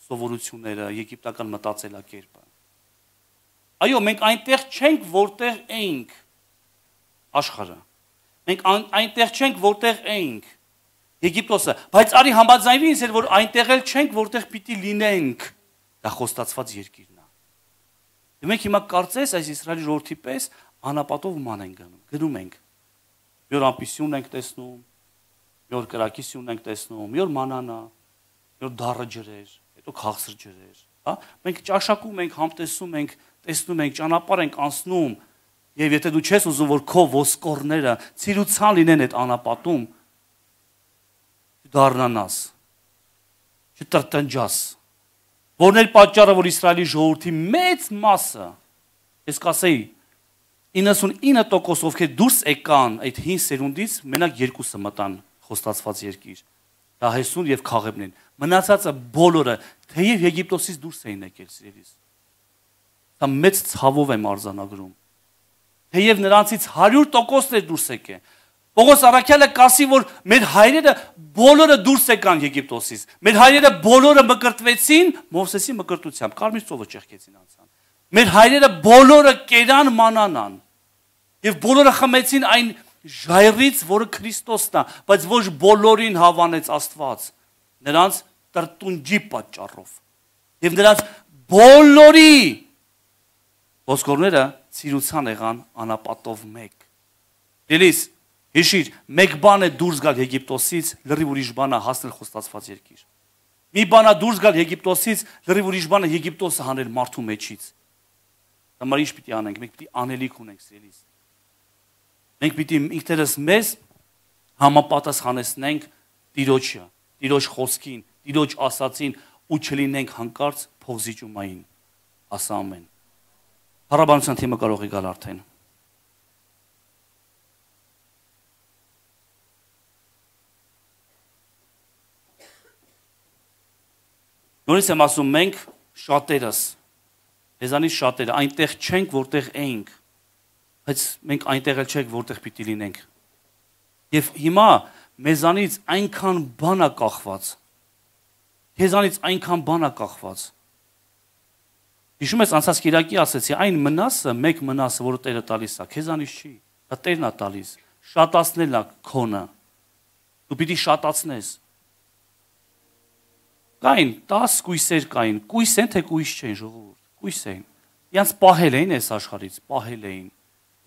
սովորությունները, եգիպտական մտածելակերպը։ Այո, մենք այնտեղ չենք, որտեղ էինք աշխարհը։ Մենք այնտեղ չենք, որտեղ էինք Եգիպտոսը, բայց արի համաձայնվի ինձ հետ, որ այնտեղ էլ չենք, որտեղ պիտի լինենք։ Դա խոստացված երկիրն է։ Եվ մենք հիմա կարծես այս Իսրայելի ժողովրդի պես անապատով ման ենք գնում, գնում ենք։ Մի օր ամպիսյուն ենք տեսնում, մի օր կրակիսյուն ենք տեսնում, մի օր մանանա, մի օր դառը ջրեր, հետո քաղցր ջրեր, հա։ Մենք ճաշակում ենք, համտեսում ենք, տեսնում ենք, ճանապարհ ենք անցնում, եւ եթե դու չես ուզում, որ քո ոսկորները ցիրուցան լինեն այդ անապատում, դառնանաս, չտրտնջաս։ Որն էլ պատճառը, որ Իսրայելի ժողովրդի մեծ մասը, ես կասեի, իննսունինը տոկոս ովքեր դուրս եկան այդ հին սերունդից, մենակ երկուսը մտան խոստացված երկիր։ Դա Հեսուն եւ Քաղեբն են։ Մնացածը բոլորը թեև Եգիպտոսից դուրս էին եկել, սիրելիս։ Դա մեծ ցավով եմ արձանագրում։ Թեև նրանցից հարյուր տոկոսներ դուրս եկան։ Պողոս Առաքյալը կասի, որ մեր հայրերը բոլորը դուրս եկան Եգիպտոսից։ Մեր հայրերը բոլորը մկրտվեցին Մովսեսի մկրտությամբ, կարմիր ծովը ճեղքեցին անցան։ Մեր հայրերը բոլորը կերան մանանան եւ բոլորը խմեցին այն ժայռից, որը Քրիստոսն է, բայց ոչ բոլորին հավանեց Աստված, նրանց տրտունջի պատճառով։ Եվ նրանց բոլորի ոսկորները ցիրուցան եղան անապատով մեկ։ Դելիս հիշիր, մեկ բան է դուրս գալ Եգիպտոսից, լրիվ ուրիշ բան է հասնել խոստացված երկիր։ Մի բան է դուրս գալ Եգիպտոսից, լրիվ ուրիշ բան է Եգիպտոսը հանել մարդու մեջից։ Համար ինչ պիտի անենք, մենք պիտի անելիք ունենք սիրելիս։ Մենք պիտի ինքներս մեզ համապատասխանեցնենք Տիրոջը, Տիրոջ խոսքին, Տիրոջ ասածին ու չլինենք հանկարծ փողզիջումային։ Ասա ամեն։ Փառաբանության թիմը կարող է գալ արդեն։ Նորից եմ ասում, մենք շատերս, մեզանից շատերը այնտեղ չենք, որտեղ էինք, բայց մենք այնտեղ էլ չենք, որտեղ պիտի լինենք։ Եվ հիմա մեզանից այնքան բան է կախված, քեզանից այնքան բան է կախված։ Հիշում ես անցած կիրակի ասեցի, այն մնասը, մեկ մնասը, որը Տերը տալիս է, քեզանից չի, դա Տերն է տալիս, շատացնել է քոնը, դու պիտի շատացնես։ Կային տաս կույսեր կային, կույս են թե կույս չեն ժողովուրդ, կույս են։ Իրանց պահել էին այս աշխարհից, պահել էին,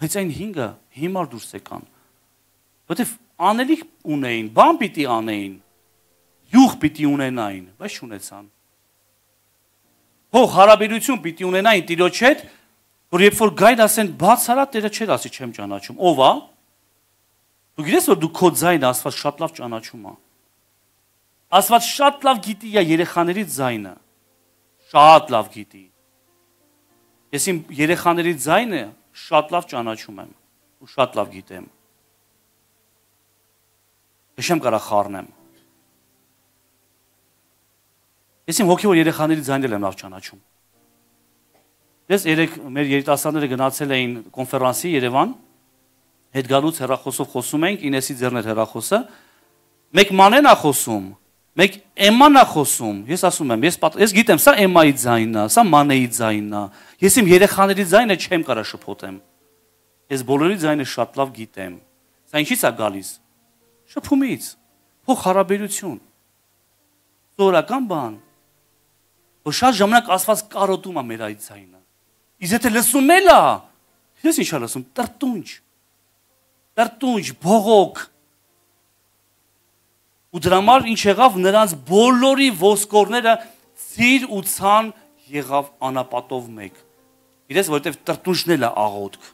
բայց այն հինգը հիմար դուրս եկան։ Որտեվ անելիք ունեին, բան պիտի անեին, յուղ պիտի ունենային, բայց չունեցան։ Հող հարաբերություն պիտի ունենային Տիրոջ հետ, որ երբ որ գային ասեն, բաց արա Տերը չէր ասի չեմ ճանաչում, ով է։ Դու գիտես որ դու քո ձայնը Աստված շատ լավ ճանաչում է։ Աստված շատ լավ գիտի երեխաների ձայնը, շատ լավ գիտի։ Ես իմ երեխաների ձայնը շատ լավ ճանաչում եմ ու շատ լավ գիտեմ։ Ես չեմ կարող խառնեմ։ Ես իմ հոգևոր երեխաների ձայնը եմ լավ ճանաչում։ Ես երեք մեր երիտասարդները գնացել էին կոնֆերանսի Երևան, հետ գալուց հեռախոսով խոսում ենք, Ինեսի ձեռն էր հեռախոսը, մեկ մանեն է խոսում, մեկ Էմման է խոսում, ես ասում եմ, ես, ես գիտեմ, սա Էմմայի ձայնն է, սա Մանեի ձայնն է, ես իմ երեխաների ձայնը չեմ կարող շփոթեմ, ես բոլորի ձայնը շատ լավ գիտեմ, սա ինչից է գալիս, շփումից, փոխ հարաբերություն, սովորական բան, որ շատ ժամանակ Աստված կարոտում է մեր այդ ձայնը, իսկ եթե լսում էլ է, ես ինչ է լսում, տրտունջ, տրտունջ, բողոք, ու դրա համար ինչ եղավ նրանց բոլորի ոսկորները ծիր ու ցան եղավ անապատով մեկ։ Իրես որովհետև տրտունջն էլ է աղոթք,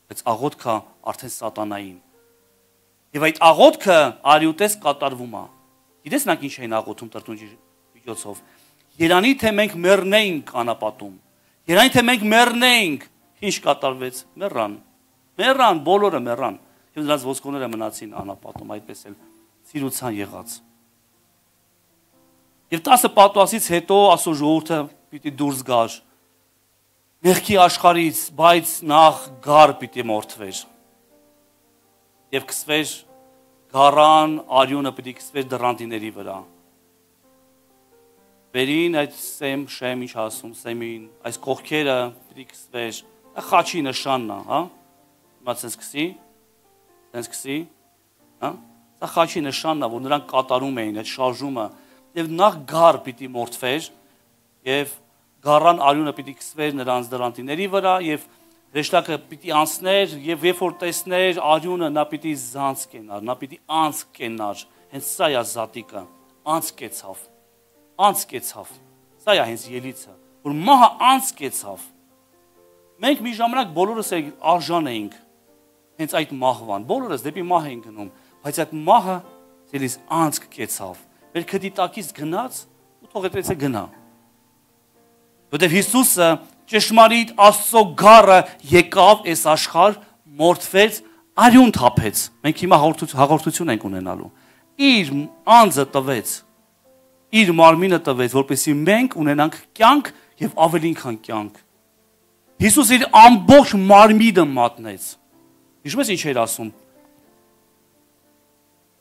բայց աղոթքը արդեն սատանային։ Եվ այդ աղոթքը արյուտես կատարվում է։ Գիտես նա ինչ էին աղոթում տրտունջի միջոցով։ Երանի թե մենք մեռնեինք անապատում։ Երանի թե մենք մեռնեինք, ինչ կատարվեց։ Մեռան։ Մեռան, բոլորը մեռան։ Եվ նրանց ոսկորները մնացին անապատում, այդպես էլ ծիրուցան եղած։ Եվ տասը պատուասից հետո ասո ժողովուրդը պիտի դուրս գար մեղքի աշխարհից, բայց նախ գար պիտի մորթվեր։ Եվ կսվեր գարան, արյունը պիտի կսվեր դռանդիների վրա։ Վերին այդ սեմ, շեմ, ինչ ասում, սեմին, այս կողքերը պիտի կսվեր, դա խաչի նշանն է, հա։ Հիմա ցենց կսի, ցենց կսի, հա։ Սա խաչի նշանն է, որ նրանք կատարում էին այդ շարժումը, եւ նախ գար պիտի մորթվեր, եւ գարան արյունը պիտի կսվեր նրանց դրանտիների վրա, եւ հրեշտակը պիտի անցներ, եւ երբ որ տեսներ արյունը, նա պիտի զանց կենար, նա պիտի անց կենար, հենց սա է զատիկը, անց կեցավ, անց կեցավ, սա է հենց ելիցը, որ մահը անց կեցավ։ Մենք մի ժամանակ բոլորս արժան էինք հենց այդ մահվան, բոլորս դեպի մահ էինք գնում, բայց այդ մահը ցելիս անց կեցավ, մեր քդի տակից գնաց ու թող այդպես է գնա։ Որտեվ Հիսուսը ճշմարիտ Աստծո գառը եկավ այս աշխարհ, մորթվեց, արյուն թափեց։ Մենք հիմա հաղորդություն ենք ունենալու։ Իր անձը տվեց, իր մարմինը տվեց, որպեսզի մենք ունենանք կյանք եւ ավելին քան կյանք։ Հիսուսը իր ամբողջ մարմինը մատնեց։ Հիշում ես ինչ էր ասում։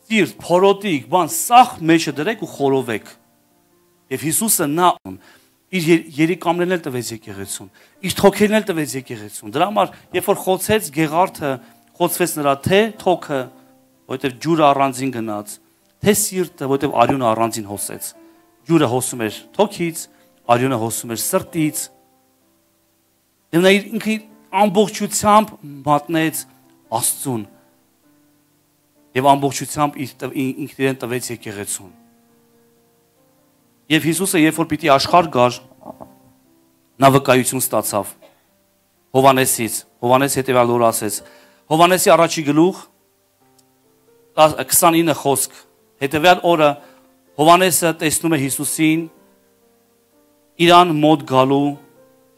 Սիրտ, փորոտիկ, բան, սախ մեջը դրեք ու խորովեք։ Եվ Հիսուսը նա իր երիկամներն էլ տվեց եկեղեցուն, իր թոքերն էլ տվեց եկեղեցուն։ Դրա համար, երբ որ խոցեց Գեղարդը, խոցվեց նրա թե թոքը, որովհետև ջուրը առանձին գնաց, թե սիրտը, որովհետև արյունը առանձին հոսեց։ Ջուրը հոսում էր թոքից, արյունը հոսում էր սրտից։ Եվ նա իր ինքը ամբողջությամբ մատնեց Աստծուն եւ ամբողջությամբ ինքն իրեն տվեց եկեղեցուն։ Եվ Հիսուսը երբ որ պիտի աշխարհ գար, նա վկայություն ստացավ Հովանեսից, Հովանես հետևյալ օրը ասեց, Հովանեսի առաջի գլուխ քսանինը խոսք, հետևյալ օրը Հովանեսը տեսնում է Հիսուսին իրան մոտ գալու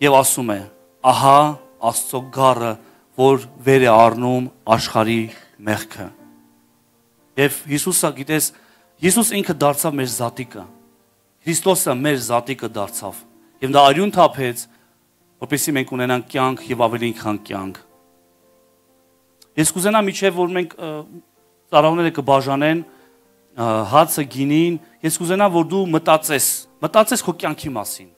եւ ասում է. ահա Աստծո գառը, որ վեր է առնում աշխարհի մեղքը։ Եվ Հիսուսը, գիտես, Հիսուս ինքը դարձավ մեր զատիկը։ Քրիստոսը մեր զատիկը դարձավ։ Եվ նա արյուն թափեց, որպեսզի մենք ունենանք կյանք եւ ավելի քան կյանք։ Ես կուզենամ իջև որ մենք ծառաողները կբաժանեն հացը, գինին, ես կուզենամ որ դու մտածես, մտածես քո կյանքի մասին։